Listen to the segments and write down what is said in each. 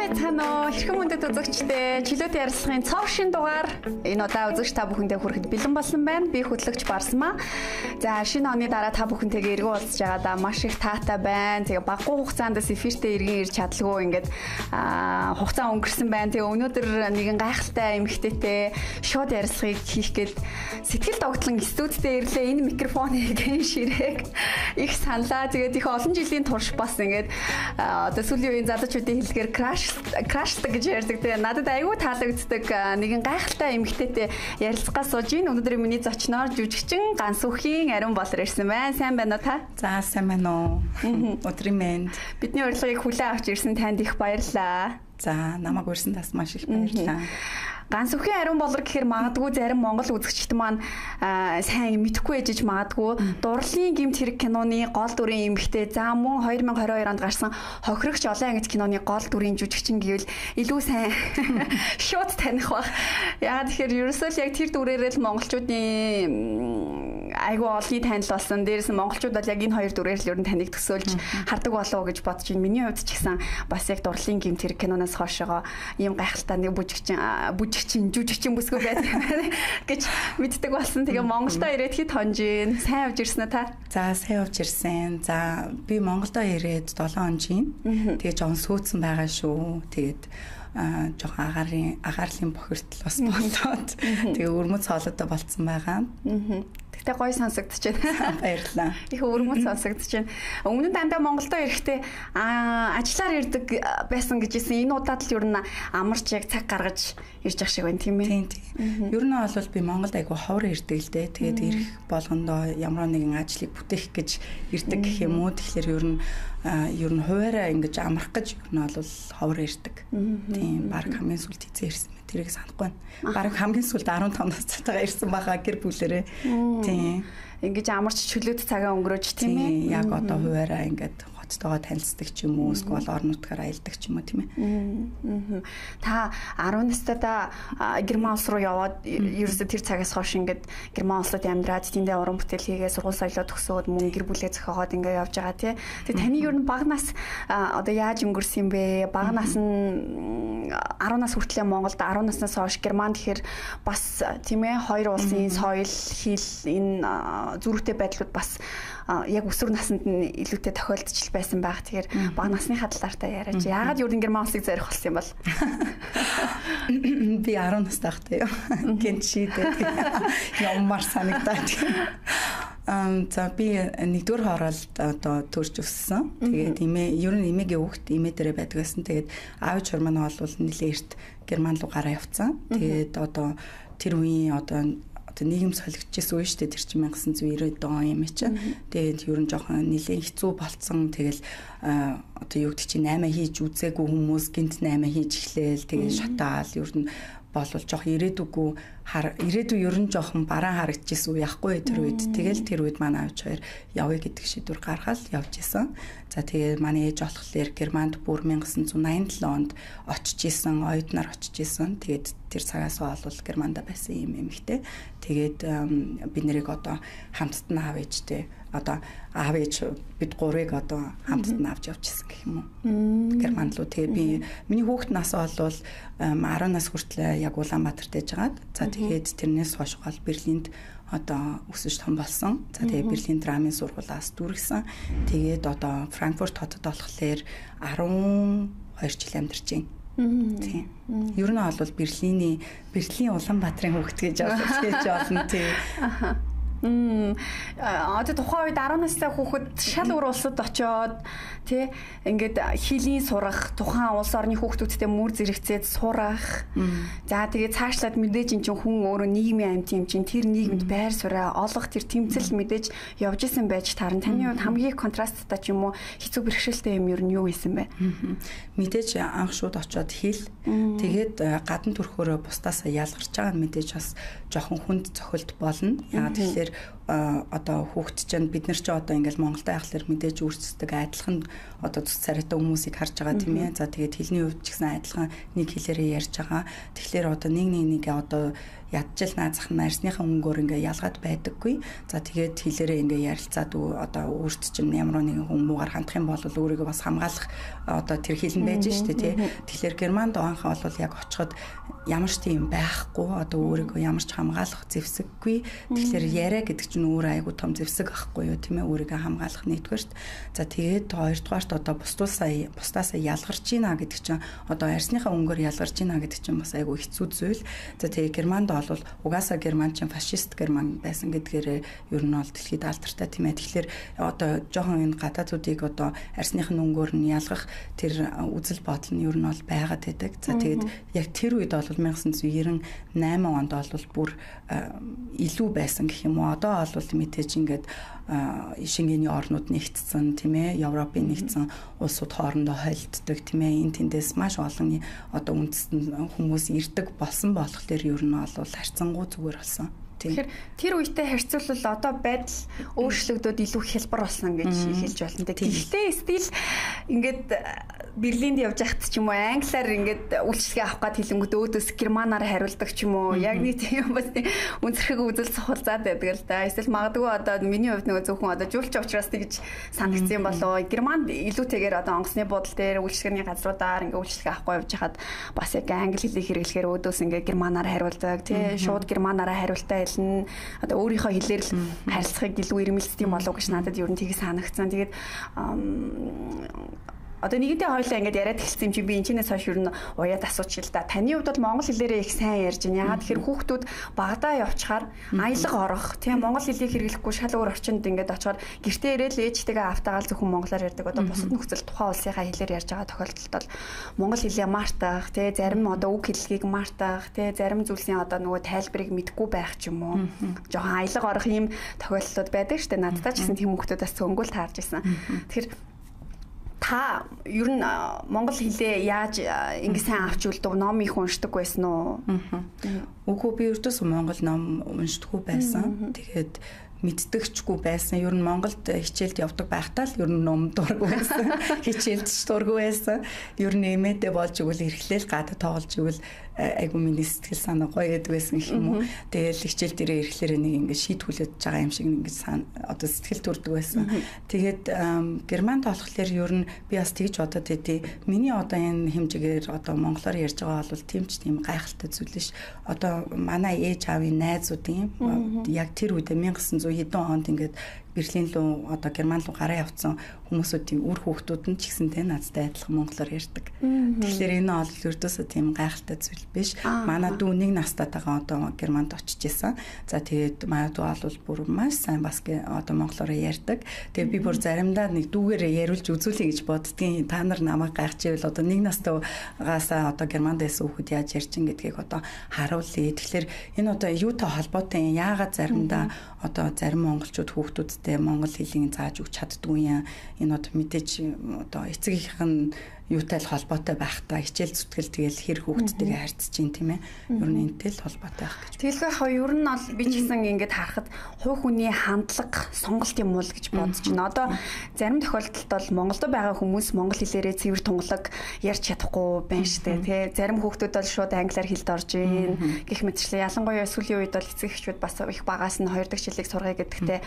Байцгаана уу? Хэрхэн мөндөд үзэгчдээ чөлөөт ярилцлагын цов шин дугаар энэ удаа үзэгч та бүхэндээ хүрэхэд бэлэн болсон байна. Би хөтлөгч Барсмаа. За шинэ оны дараа та бүхэнтэйгээ эргэн уулзж байгаадаа маш их таатай байна. Тэгээ баггүй хугацаанд эфиртээ эргэн ирж чадлагүй ингээд хугацаа өнгөрсөн байна. Тэгээ өнөөдөр нэгэн гайхалтай эмэгтэйтэй шууд ярилцлагыг хийх гээд сэтгэл догтлон студидээ ирлээ. Энэ микрофоныг ширээг их саналаа. Тэгээд их олон жилийн турш бас ингээд одоо сүүлийн үеийн залуучуудын хэллэгээр крашдаг гэж ярьдаг. Тэгээ надад айгүй таалагддаг нэгэн гайхалтай эмэгтэйтэй ярилцлагаас сууж ийн. Өнөөдөр миний зочноор жүжигчин Гансүхийн Ариун Болор ирсэн байна. Сайн байна уу та? За сайн байна уу. Өдрийн мэнд. Бидний урилгыг хүлээн авч ирсэн танд их баярлалаа. За намайг урьсан тас маш их баярлалаа. Гансүхийн Ариун Болор гэхээр магадгүй зарим монгол үзэгчд маань сайн мэдэхгүй ээжж магадгүй дурлалын гэмт хэрэг киноны гол дүрийн эмэгтэй за мөн 2022 онд гарсан Хохирогч олон ангид киноны гол дүрийн жүжигчин гэвэл илүү сайн шууд таних баг. Яагаад тэгэхээр ерөөсөө л яг тэр дүрээрээ л монголчуудын айгүй олонний танил болсон. Дээрээс нь монголчууд бол яг энэ хоёр дүрээр л ер нь таныг төсөөлж хардаг болов уу гэж бодож байна. Миний хувьд ч гэсэн бас яг дурлалын гэмт хэрэг киноноос хойшоо ийм гайхалтай нэг жүжигчин бүсгүй байдаг гэж мэддэг болсон. Тэгээ Монголдо ирээд хэд хонжийн сайн явж ирсэн үү та? За сайн явж ирсэн. За би Монголдо ирээд 7 хонжийн. Тэгээ жоохон сүйдсэн байгаа шүү. Тэгээд жоохон агаарлын бохирдол бас болоод тэгээ өрмөц хоолойтой болцсон байгаа. Тэгтээ гоё сонсогдож байна. Баярлалаа. Их өрмөц сонсогдож байна. Өмнө нь дандаа Монголдо ирэхдээ ажиллаар ирдэг байсан гэжсэн. Энэ удаад л ер нь амарч яг цаг гаргаж ирж ах шиг байна тийм ээ. Тийм. Ер нь бол би Монголд айгу ховор ирдэг л дээ. Тэгээд ирэх болгондоо ямар нэгэн ажлыг бүтээх гэж ирдэг гэх юм уу. Тэгэхээр ер нь хуваараа ингэж амрах гэж ер нь бол ховор ирдэг. Тийм. Бараг хамгийн сүлд хийцээ ирсэн. Тэрийг санахгүй байна. Бараг хамгийн сүлд 15 настай ирсэн байгаа гэр бүлэрээ. Тийм. Ингэж амарч чөлөөт цагаа өнгөрөөж тийм ээ. Яг одоо хуваараа ингээд хоцтойгоо танилцдаг ч юм уу, эсвэл орон нутгаар аялдаг ч юм уу тийм ээ. Та 10 настайдаа Герман улс руу яваад ерөөсө тэр цагаас хойш ингээд Герман улсад амьдраад тэндээ уран бүтээл хийгээ сургууль соёлоо төгсөөд мөн гэр бүлээ зохиогоод ингээд явж байгаа тий. Тэгээ таны ер нь бага нас одоо яаж өнгөрсөн юм бэ? Бага нас нь 10 нас хүртлээр Монголд 10 наснаас хойш Герман тэгэхээр бас тийм ээ хоёр улсын соёл, хэл энэ зөрүүтэй байдлууд бас яг өсвөр наснд нь илүүтэй тохиолдож байсан байх. Тэгэхээр бага насныхаа талаараа яриач. Яагаад юу Герман улсыг зорих болсон юм бол? Би 10 настай байхдаа гэнт шийдээд ямар санагдаад. За би нэгдүгээр хоороолд одоо төрж өссөн. Тэгээд ер нь эмээгийн хүүхд эмээ дээрээ байдаг байсан. Тэгээд аав чор маань бол нэлээ эрт Герман руу гараа явцсан. Тэгээд одоо тэр үеийн одоо нийгэм солигдчихсэн үе шүү дээ. Тэр чинь 1990 он юм чинь. Тэгээд ер нь жоохон нэлээд хэцүү болцсон. Тэгэл одоо юу гэдэг чинь 8 хийж үзээгүй хүмүүс гинт 8 хийж эхлээл. Тэгээд шатаал ер нь болвол жоохон ирээдүй ер нь жоохон бараан харагдчихсэн үе яахгүй тэр үед. Тэгэл тэр үед манай аав хоёр явъя гэдэг шийдвэр гаргаад явж исэн. За тэгээ манай ээж болохоор Германд бүр 1987 онд очиж исэн, оюутнаар очиж исэн. Тэгээд тэр цагаас бол Германда байсан юм эмэгтэй. Тэгээд бид нэрийг одоо хамтд нь аав ээжтэй одоо аав ээж бид гурыг одоо хамтд нь авч явчихсан гэх юм уу. Германд руу тэгээ би миний хүүхэд нас бол 10 нас хүртэл яг Улаанбаатарт ээжгаад за тэгээд тэрнээс хойш гол Берлинд одоо өсөж том болсон. За тэгээ Берлин драмын сургуулиас дүргсэн. Тэгээд одоо Франкфурт хотод болохоор 12 жил амьдарч байна. Тийм. Ер нь бол Берлин Улаанбаатарын хүүхэд гэж олно тий. Одоо тухайн үед 10 настай хүүхэд шал өөр улсад очиод тий ингээд хилийн сурах тухайн улс орны хүүхдүүдтэй мөр зэрэгцээд сурах. За тэгээд цаашлаад мэдээж эн чинь хүн өөрөө нийгмийн амьт юм чинь тэр нийгэмд байр сууриа олох тэр тэмцэл мэдээж явж исэн байж таарна. Таны хувьд хамгийн контрасттай ч юм уу хэцүү бэрхшээлтэй юм ер нь юу байсан бэ? Мэдээж анх шууд очиод хэл тэгээд гадна төрхөөрөө бусдаасаа ялгарч байгаа мэдээж бас жоохон хүнд цохилт болно. Яагаад тэгэхээр одоо хүүхд чинь бид нар ч одоо ингээл Монголд байхлаар мэдээж өөрсдөг адилхан одоо цус царайтай хүмүүсийг харж байгаа тийм ээ. За тэгээд хэлний хувьд ч гэсэн адилхан нэг хэлээрээ ярьж байгаа. Тэгэхээр одоо нэг одоо ядчил наазах нь арсныхаа өнгөөр ингээ ялгаад байдаггүй. За тэгээд хэлээрээ ингээ ярилцаад одоо өөрт чинь ямар нэгэн хүн муугаар хандах юм бол өөрийгөө бас хамгаалах одоо тэр хилэн байж штэ тий. Тэгэхээр германд оонхоо бол яг очиход ямар ч тийм байхгүй одоо өөрийгөө ямар ч хамгаалах зэвсэггүй. Тэгэхээр яриа гэдэг чинь өөр айгу том зэвсэг ахгүй юу тийм ээ өөрийгөө хамгаалах нэгдүгээрт. За тэгээд хоёрдугаарт одоо бусдаасаа ялгарч гинэ гэдэг чинь одоо арсныхаа өнгөөр ялгарч гинэ гэдэг чинь бас айгу хэцүү зүйл. За тэгээд германд бол угаасаа герман чинь фашист герман байсан гэдгээр ер нь бол дэлхийд алдартай тийм ээ. Тэгэхээр одоо жоохон энэ гадаадуудыг одоо арсных нь өнгөөр нь ялгах тэр үзэл бодол нь ер нь бол байгаад байдаг. За тэгээд яг тэр үед бол 1998 онд бол бүр илүү байсан гэх юм уу. Одоо бол мэдээж ингээд Шенгений орнууд нэгдсэн тийм ээ. Европын нэгдсэн улсууд хоорондоо холилддог тийм ээ. Энэ тэндээс маш олон одоо үндэстэн хүмүүс ирдэг болсон болохоор ер нь бол харьцангуй зүгээр болсон. Тэгэхээр тэр үетэй харьцуулбал одоо байдал өөрчлөгдөд илүү хялбар болсон гэж хэлж болно. Гэхдээ стил ингээд Берлинд явж байхад ч юм уу англиар ингээд үйлчлэгээ авах гад хэлэнгүүд өөдөөс германаар хариулдаг ч юм уу. Яг нэг тийм бас үнцэрхэг үзэл сухалзаад байдаг л да. Эсвэл магадгүй одоо миний хувьд нөгөө зөвхөн одоо жуулч учраас тэгж санагдсан болоо. Германд илүүтэйгээр одоо онгоцны буудлын дээр үйлчлэгээний газруудаар ингээд үйлчлэгээ авахгүй явж хахад бас яг англи хэлийг хэрэглэхээр өөдөөс ингээд германаар хариулдаг. Тий шууд германаар хариултаа хэлнэ. Одоо өөрийнхөө хэлээр л харилцахыг илүү ирмэлцдэг болов гэж надад ер нь тийг санагдсан. Тэгээд одоо нэгэнтээ хоёлаа ингэж яриад эхэлсэн юм чи би энэчнээс хойш юу н уяад асуучих л да. Таны хувьд бол монгол хэлээрээ их сайн ярьж байна. Ягаад тэгэхээр хүүхдүүд багадаа явчихаар аялга орох, тийм монгол хэлийг хэрэглэхгүй шал өөр орчинд ингэж очихоор гэртээ ирээл ээжтэйгээ автаагаал зөвхөн монголоор ярьдаг. Одоо бусад нөхцөл тухайн улсынхаа хэлээр ярьж байгаа тохиолдолд бол монгол хэлээ мартах, тийм зарим одоо үг хэллэгийг мартах, тийм зарим зүйлсийн одоо нөгөө тайлбарыг мэдгүй байх ч юм уу. Жохон аялга орох ийм тохиолдлууд байдаг шүү дээ. Надтай ч гэсэн тийм хүүхдүүдээс цөнгөл таарж исэн. Тэгэхээр та ер нь монгол хэлээ яаж ингэ сайн авч үлдв ном их уншдаг байсан уу? Үгүй би ердөөс монгол ном уншдаггүй байсан. Тэгээд мэддэгчгүй байсан. Ер нь Монголд хичээлд явдаг байхдаа л ер нь ном дургүй байсан. Хичээлд ч дургүй байсан. Ер нь эмээдээ болж игэл эрхлээл гадаа тоглож игэл айгу миний сэтгэл санаа гоё гэдэг байсан гэх юм уу. Тэгэл хичээл дээрээ ирэхлээр нэг ингэ шийтгүүлээд байгаа юм шиг ингэ одоо сэтгэл төрдөг байсан. Тэгээд германд болохоор ер нь би бас тэгж бодоод байдیں۔ Миний одоо энэ хэмжээгээр одоо монголоор ярьж байгаа бол тийм ч тийм гайхалтай зүйл ш. Одоо манай ээж аавын найзуудын яг тэр үедээ 1900 хэдэн онд ингээд Берлин руу одоо Герман руу гараа явцсан хүмүүсүүдийн үр хүүхдүүд нь ч гэсэнтэй надтай адилхан монголоор ярьдаг. Тэгэхээр энэ бол ердөөсөө тийм гайхалтай зүйл биш. Манай дүү нэг настайгаа одоо Германд очиж исэн. За тэгээд манай дүү бол бүр маш сайн бас одоо монголоор ярьдаг. Тэгээд би бүр заримдаа нэг дүүгээрээ яриулж үзүүлэе гэж боддгийн. Та нар намайг гайхчихвэл одоо нэг настайгаасаа одоо Германд байсан хүүхэд яаж ярьж ин гэдгийг одоо харуулъя. Тэгэхээр энэ одоо юутай холбоотой юм? Яагаад заримдаа одоо зарим монголчууд хүүхдүүдтэй монгол хэлийг зааж өгч чаддгүй юм. Энэ одоо мэдээж одоо эцэгийнх нь юутай л холбоотой байх та хичээл зүтгэл тэгэл хэр хүүхдтэйгээ харьцаж чинь тийм ээ. Ер нь энэтэй л холбоотой байх гэж. Тэгэлгүй ер нь бол би ч гэсэн ингэж харахад хувь хүний хандлага сонголт юм уу гэж бодож байна. Одоо зарим тохиолдолд бол Монголд байгаа хүмүүс монгол хэлээрээ цэвэр тунгалаг ярьж чадахгүй байна штэ тий. Зарим хүүхдүүд бол шууд англиар хэлд орж ийн гэх мэтчлээ. Ялангуяа сүүлийн үед бол эцэг эхчүүд бас их багаас нь 2 дахь жилиг сургая гэдэгтэй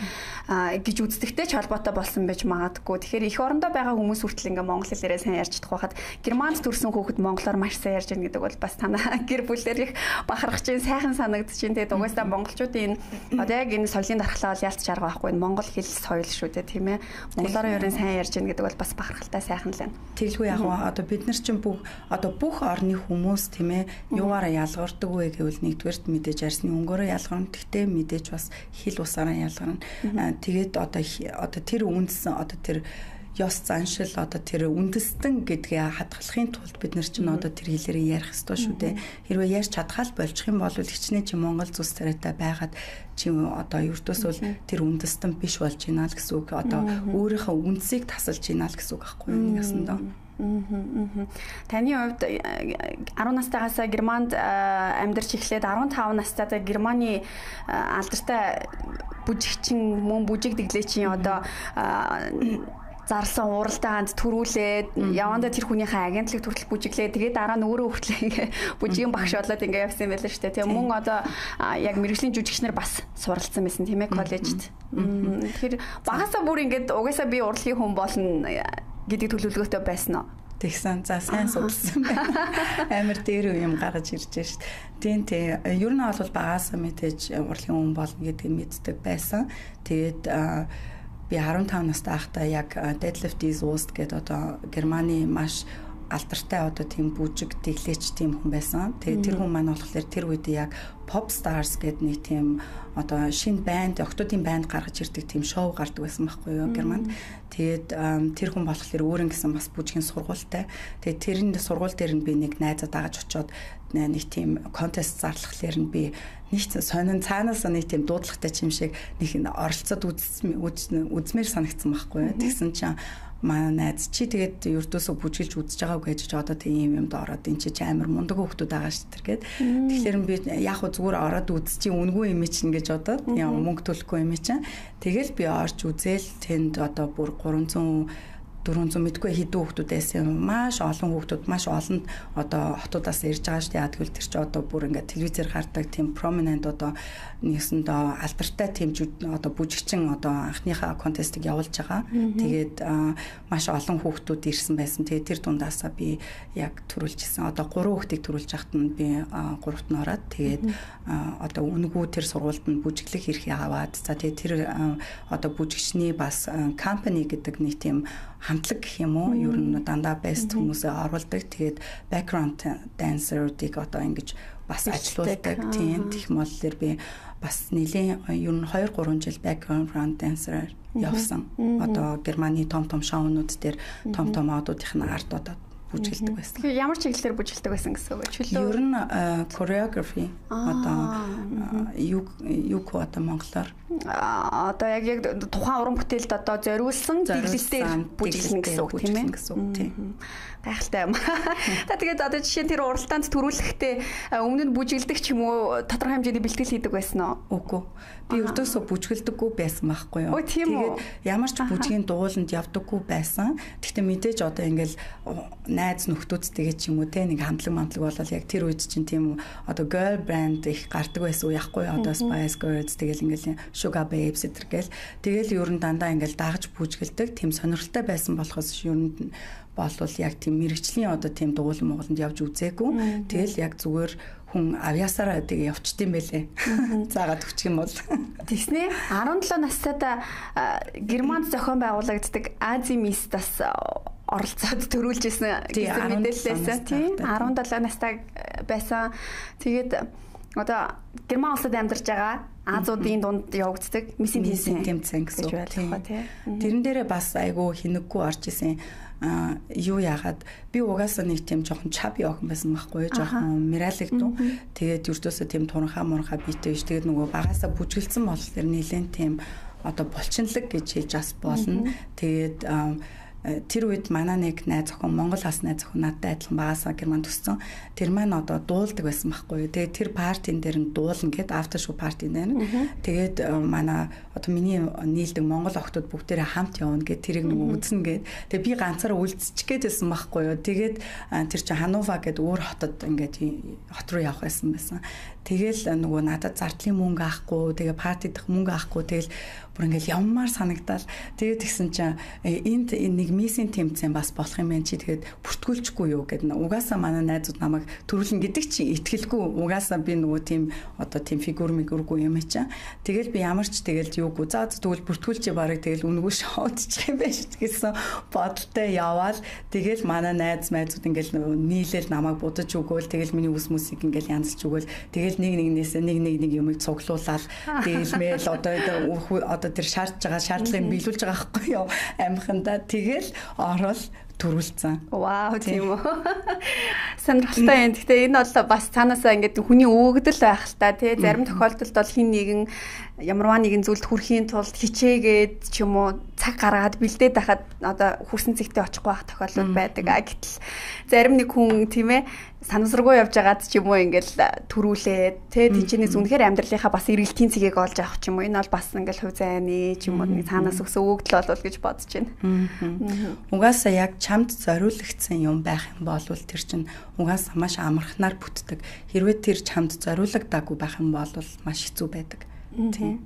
гэж үздэгтэй ч холбоотой болсон байж магадгүй. Тэгэхээр их орондоо байгаа хүмүүс хүртэл ингээ монгол хэлээрээ сайн ярьж хахад Германд төрсэн хүүхэд монголоор маш сайн ярьж байгаа гэдэг бол бас танаа гэр бүлээр их бахарах чинь сайхан санагдаж чинь тэгээд угаасаа монголчуудын одоо яг энэ соёлын дархлаа бол ялц чарга байхгүй монгол хэл соёл шүү дээ тийм ээ. Монголоор ерөн сайн ярьж байгаа гэдэг бол бас бахархалтай сайхан л байна. Тэглгүй яг одоо бид нар чинь бүх орны хүмүүс тийм ээ юугаараа ялгардаг вэ гэвэл нэгдүгээрт мэдээж арсны өнгөөрөө ялгарна. Тэгтээ мэдээж бас хэл усаараа ялгарна. Тэгээд одоо тэр үндсэн одоо тэр ёс заншил одоо тэр үндэстэн гэдгээ хадгалахын тулд бид нар чинь одоо тэр хэлээрээ ярих ёстой шүү дээ. Хэрвээ ярьж чадхаал болчих юм бол хичнээн чи монгол зүс царайтай байгаад чи одоо ердөөсөө тэр үндэстэн биш болж байна л гэсэн үг. Одоо өөрийнхөө үндсийг тасалж байна л гэсэн үг байхгүй юу нэг ясандаа. Таны хувьд 10 настайгаас Германд амьдарч эхлээд 15 настайдаа Германы алдартай бүжигчин мөн бүжиг дэглээчийн одоо зарласан уралдаанд төрүүлээд явандаа тэр хүнийхээ агентлаг төртөл бүжиглээ. Тэгээд дараа нь өөрөө хүртлээ бүжгийн багш болоод ингээ явсан юм байлаа шүү дээ. Тэгээ мөн одоо яг мэргэжлийн жүжигчнэр бас суралцсан байсан тийм ээ коллежид. Тэгэхээр багасаа бүр ингээд угаасаа би урлагийн хүн болно гэдэг төлөвлөгөөтэй байсан уу? Тэгсэн за сайн судалсан байна. Амар дээр юм гаргаж ирж шít. Тийм ер нь бол багасаа мэдээж урлагийн хүн болно гэдгийг мэддэг байсан. Тэгээд би 15 настай байхдаа яг Deadlift is Worst гэдэг одоо Германы маш алдартай одоо тийм бүжиг тэглээч тийм хүн байсан. Тэгээд тэр хүн маань болохоор тэр үед яг Pop Stars гэдэг нэг тийм одоо шинэ банд, октодын банд гаргаж ирдэг тийм шоу гардаг байсан байхгүй юу Германд. Тэгээд тэр хүн болохоор өөрөнгө гэсэн бас бүжгийн сургуультай. Тэгээд тэрний сургууль дээр нь би нэг найзаа дагаж очиод нэг тийм контест зарлахлаар нь би нэг сонин цаанаас нэг тийм дуудлагатай юм шиг нэг оролцоод үзмээр санагдсан байхгүй юу. Тэгсэн чинь манай найз чи тэгээд ердөөсөө бүжгэлж үзэж байгаагүй гэж одоо тийм юмд ороод эн чи амар мундаг хүүхдүүд байгаа шүү дээ гэд. Тэгэхээр би яг хөө зүгээр ороод үз чи үнгүй юм чинь гэж бодоод яа мөнгө төлөхгүй юм чинь. Тэгэл би орж үзэл тэнд одоо бүр 400 мэдгүй хэдэн хүүхдүүдээс маш олон хүүхдүүд маш олон одоо хотуудаас ирж байгаа шүү дээ. Тэгвэл тэр чи одоо бүр ингээд телевизээр гардаг тийм prominent одоо нэгсэндээ алдартай тийм одоо бүжигчин одоо анхныхаа контестыг явуулж байгаа. Тэгээд маш олон хүүхдүүд ирсэн байсан. Тэгээд тэр дундаасаа би яг төрүүлжсэн. Одоо 3 хүүхдийг төрүүлж байхад нь би 3-т нь ороод тэгээд одоо үнгүү тэр сургуульд нь бүжиглэх эрхийг аваад за тэгээд тэр одоо бүжигчний бас company гэдэг нэг тийм хамтлаг гэх юм уу ер нь дандаа best хүмүүсээ оруулдаг. Тэгээд background dancer-ыг одоо ингэж бас ажилуулдаг. Тийм тех моллоор би бас нэлийн ер нь 2-3 жил background dancer явсан. Одоо Германы том шоунууд дээр том одуудын арт одоо бүжгэлдэг байсан. Тэгэхээр ямар чиглэлээр бүжгэлдэг байсан гэсэн үг чөлөө? Ер нь choreography одоо юу одоо монголоор одоо яг тухайн уран бүтээлд одоо зориулсан дэглэлтээр бүжиглэн гэсэн үг тийм ээ. Гайхалтай юм. Та тэгээд одоо жишээ нь тэр уралдаанд төрүүлэхдээ өмнө нь бүжгэлдэг ч юм уу тодорхой хэмжээний бэлтгэл хийдэг байсан уу? Үгүй. Би өрдөөсөө бүжгэлдэггүй байсан байхгүй юу. Тэгээд ямар ч бүжгийн дууланд явдаггүй байсан. Гэхдээ мэдээж одоо ингээл найз нөхдүүдтэйгээ ч юм уу те нэг хамтлаг болол яг тэр үед чинь тийм одоо girl band их гардаг байсан уу яахгүй одоо Spice Girls тэгэл ингээл Sugar Babes гэл тэгэл ер нь дандаа ингээл дагаж бүжгэлдэг тийм сонирхолтой байсан болохоос ер нь болвол яг тийм мэрэгчлийн одоо тийм дуулан Монголд явж үзээгүй. Тэгэл яг зүгээр хүн авьяасаараа тэгээ явчдсан байлээ. Заагаад өгчих юм бол. Тэснэ 17 настайдаа Германд зохион байгуулагддаг Ази Мистас оролцоод төрүүлж исэн гэсэн мэдээлэлээс тийм 17 настай байсан. Тэгээд одоо Герман улсад амьдарч байгаа Азуудын дунд явагддаг мисийн тэмцээн гэсэн үг тийм. Тэрэн дээрээ бас айгүй хинэггүй орж исэн. Юу яагаад би угаасаа нэг тийм жоохон чаби охин байсан байхгүй жоохон миралэгдүү. Тэгээд юрдөөсөө тийм туранхаа битээ ш. Тэгээд нөгөө багаасаа бүжгэлсэн болохоор нэлээд тийм одоо булчинлаг гэж хэлж бас болно. Тэгээд тэр үед манай нэг найз охин Монгол хас найз охин надтай адилхан багасаа Германд төссөн. Тэр маань одоо дуулдаг байсан байхгүй юу. Тэгээд тэр партийн дээр нь дуулна гэд after show party дээр. Тэгээд манай одоо миний нийлдэг Монгол охтууд бүгдээрээ хамт явна гэд тэрийг нэг үзнэ гэд. Тэгээд би ганцаараа үлдчих гээдсэн байхгүй юу. Тэгээд тэр чинь Ханува гэд өөр хотод ингээд хот руу явах байсан. Тэгэл нөгөө надад зардлын мөнгө авахгүй, тэгээ парти дах мөнгө авахгүй, тэгэл бүр ингээл явмаар санагдал. Тэгээд тэгсэн чинь энд нэг миссийн тэмцээн бас болох юм байна чи тэгээд бүртгүүлчихгүй юу гэдэг. Угаасаа манай найзууд намайг төрүүлнэ гэдэг чинь итгэлгүй. Угаасаа би нөгөө тийм одоо тийм фигүргүй юм чинь. Тэгэл би ямар ч тэгэл юугүй. За тэгвэл бүртгүүлчихээ барыг тэгэл үнгүү шоудчих юм байж гэсэн бодолтой яваал. Тэгэл манай найзууд ингээл нийлээл намайг будаж өгөөл тэгэл миний үс мөсийг ингээл янзлж өгөөл. Тэгэл нэгнээс нэг юмыг цуглуулаад тэгэл мэйл одоо тэр шаардж байгаа шаардлагыг биелүүлж байгаа байхгүй юу амхандаа тэгэл орол төрүүлсэн. Вау тийм үү. Сонирхолтой юм. Гэхдээ энэ бол бас цаанаасаа ингээд хүний өөгдөл байх л та тий зарим тохиолдолд бол хин нэгэн ямарваа нэгэн зүйлд хүрэхийн тулд хичээгээд ч юм уу цаг гаргаад бэлдээд байхад одоо хүрсэн цэгтээ очихгүй байх тохиолдол байдаг. Гэтэл зарим нэг хүн тийм ээ санамсаргүй явж байгаад ч юм уу ингээл төрүүлээд тэ тийчнээс үнэхээр амьдралынхаа бас эргэлтийн цэгийг олж авах ч юм уу. Энэ бол бас ингээл хувь зайны ч юм уу нэг цаанаас өгсөн өгдөл болов гэж бодож байна. Угаасаа яг чамд зориулагдсан юм байх юм бол тэр чинь угаасаа маш амархнаар бүтдэг. Хэрвээ тэр чамд зориулагдаагүй байх юм бол маш хэцүү байдаг. Тийм.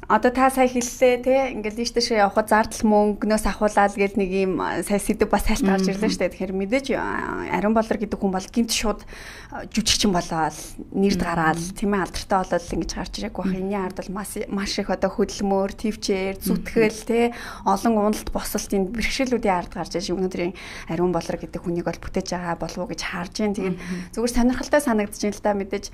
Одоо та сая хэллээ те ингээл ийш тийш явхад зардал мөнгнөөс ахуулаад гэл нэг юм сая сэдв бас сайлт гарч ирлээ шүү дээ. Тэгэхээр мэдээж Ариун Болор гэдэг хүн бол гинт шууд жүжигчин болоод нэрд гараад тийм ээ алдартай болоод ингэж гарч ирэх байх. Энэний ард бол маш их одоо хөдөлмөр, твчээр, зүтгэл те олон уналт босолтын бэрхшээлүүдийн ард гарч ирж өнөөдрийн Ариун Болор гэдэг хүнийг бол бүтээж байгаа болов уу гэж харж байна. Тэгээд зүгээр сонирхолтой санагдаж байна л да мэдээж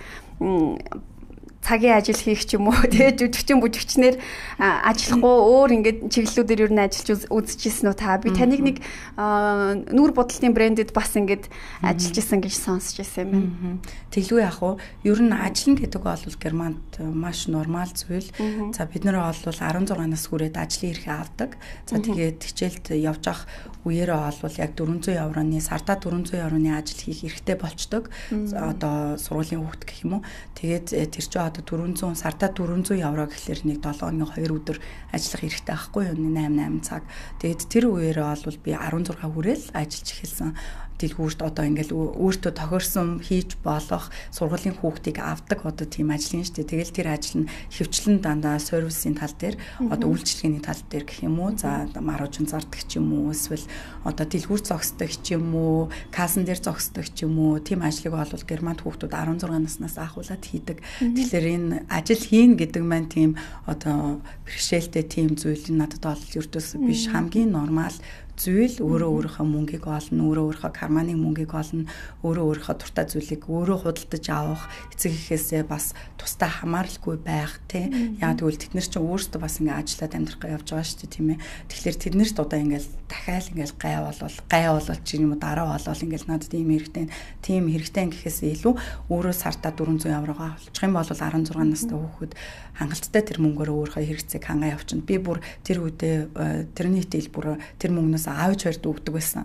цагийн ажил хийх ч юм уу тэгээ жүжигчин бүжигчнэр ажиллахгүй өөр ингээд чиглэлүүдээр юу н ажиллаж үзчихсэн үү та би таныг нэг нүүр будалтын брендэд бас ингээд ажиллаж исэн гэж сонсч ирсэн юм байна. Тэглгүй яах вэ? Ер нь ажил гэдэг бол Германд маш нормал зүйл. За бид нэр бол 16 нас хүрээд ажлын эрхээ авдаг. За тэгээд хичээлд явж авах үеэрээ бол яг 400 евроны сардаа 400 евроны ажил хийх эрхтэй болчдөг. Одоо сургуулийн хүүхд гэх юм уу. Тэгээд тэр чинь одоо 400 сардаа 400 евро гэхэлэр нэг 7 2 өдөр ажиллах эрхтэй байхгүй юу? 8 цаг. Тэгээд тэр үеэрээ бол би 16 хүрээл ажиллаж эхэлсэн. Дэлгүүрт одоо ингээл өөртөө тохирсон хийж болох сургуулийн хүүхдийг авдаг одоо тийм ажил юм шүү дээ. Тэгэл тэр ажил нь хөвчлэн дандаа сервисийн тал дээр одоо үйлчлэгээний тал дээр гэх юм уу. За маружин зардаг ч юм уу эсвэл одоо дэлгүүр зогсдог ч юм уу, кассан дээр зогсдог ч юм уу. Тийм ажлыг бол Германд хүүхдүүд 16 наснаас ахуулаад хийдэг. Тэгэхээр энэ ажил хийн гэдэг маань тийм одоо бэрхшээлтэй тийм зүйл надад бол ердөөс биш хамгийн нормал зүйл өөрөө өөрийнхөө мөнгийг олно, өөрөө өөрийнхөө карманы мөнгийг олно, өөрөө өөрийнхөө дуртай зүйлийг өөрөө худалдаж авах, эцэг эхээсээ бас тусдаа хамааралгүй байх тийм. Яг тэгвэл тэд нар чинь өөрсдөө бас ингээ ажиллаад амьдрах явж байгаа шүү дээ тийм ээ. Тэгэхээр тэднэрт одоо ингээл дахиад ингээл гай болол чи юм дараа болол ингээл надад ийм хэрэгтэй гэхээс илүү өөрөө сартаа 400 еврогоо олчих юм бол 16 настай хүүхэд хангалттай тэр мөнгөөр өөрийнхөө хэрэгцээг хангаа явуулчихна. Би бүр тэр үедээ тэрний тэл бүр тэр мөнгнөөс аавч хоёрт өгдөг байсан.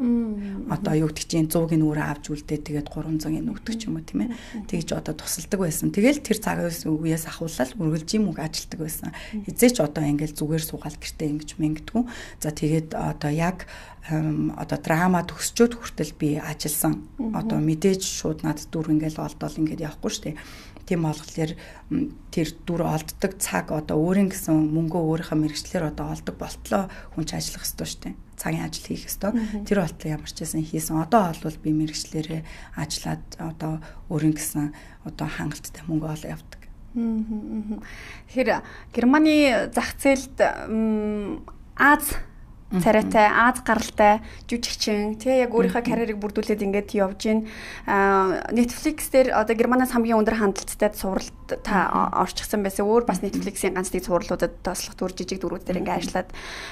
Одоо юу гэдэг чинь 100-ыг өөрөө авч үлдээ тэгээд 300-ыг өгдөг ч юм уу тийм ээ. Тэгж одоо тусалдаг байсан. Тэгэл тэр цагаас үеэс ахуулаад үргэлжийн мөнгө ажилтдаг байсан. Эзээч одоо ингээл зүгээр суугаал гэртээ ингэж мэнгдэггүй. За тэгээд одоо яг одоо драма төгсчөөд хүртэл би ажилласан. Одоо мэдээж шууд надад дүр ингээл олдол ингээд явахгүй шүү дээ. Тийм болохоор тэр дүр олддог цаг одоо өөрийн гэсэн мөнгөө өөрийнхөө мэрэгчлэр одоо олдог болтлоо хүн ч ажиллах ёстой шүү дээ. Цагийн ажил хийх ёстой. Тэр болтлоо ямар ч байсан хийсэн. Одоо бол би мэрэгчлэрээ ажиллаад одоо өөрийн гэсэн одоо хангалттай мөнгө олоо явдаг. Тэгэхээр Германы зах зээлд Аз царайтай, Аз гаралтай жүжигчин тий яг өөрийнхөө карьерийг бүрдүүлээд ингээд явж гин. Netflix дээр одоо Германаас хамгийн өндөр хандлттай суралт та орчихсан байсан. Өөр бас Netflix-ийн ганц нэг сурлуудад тослох дүр жижиг дүрүүд дээр ингээд ажиллаад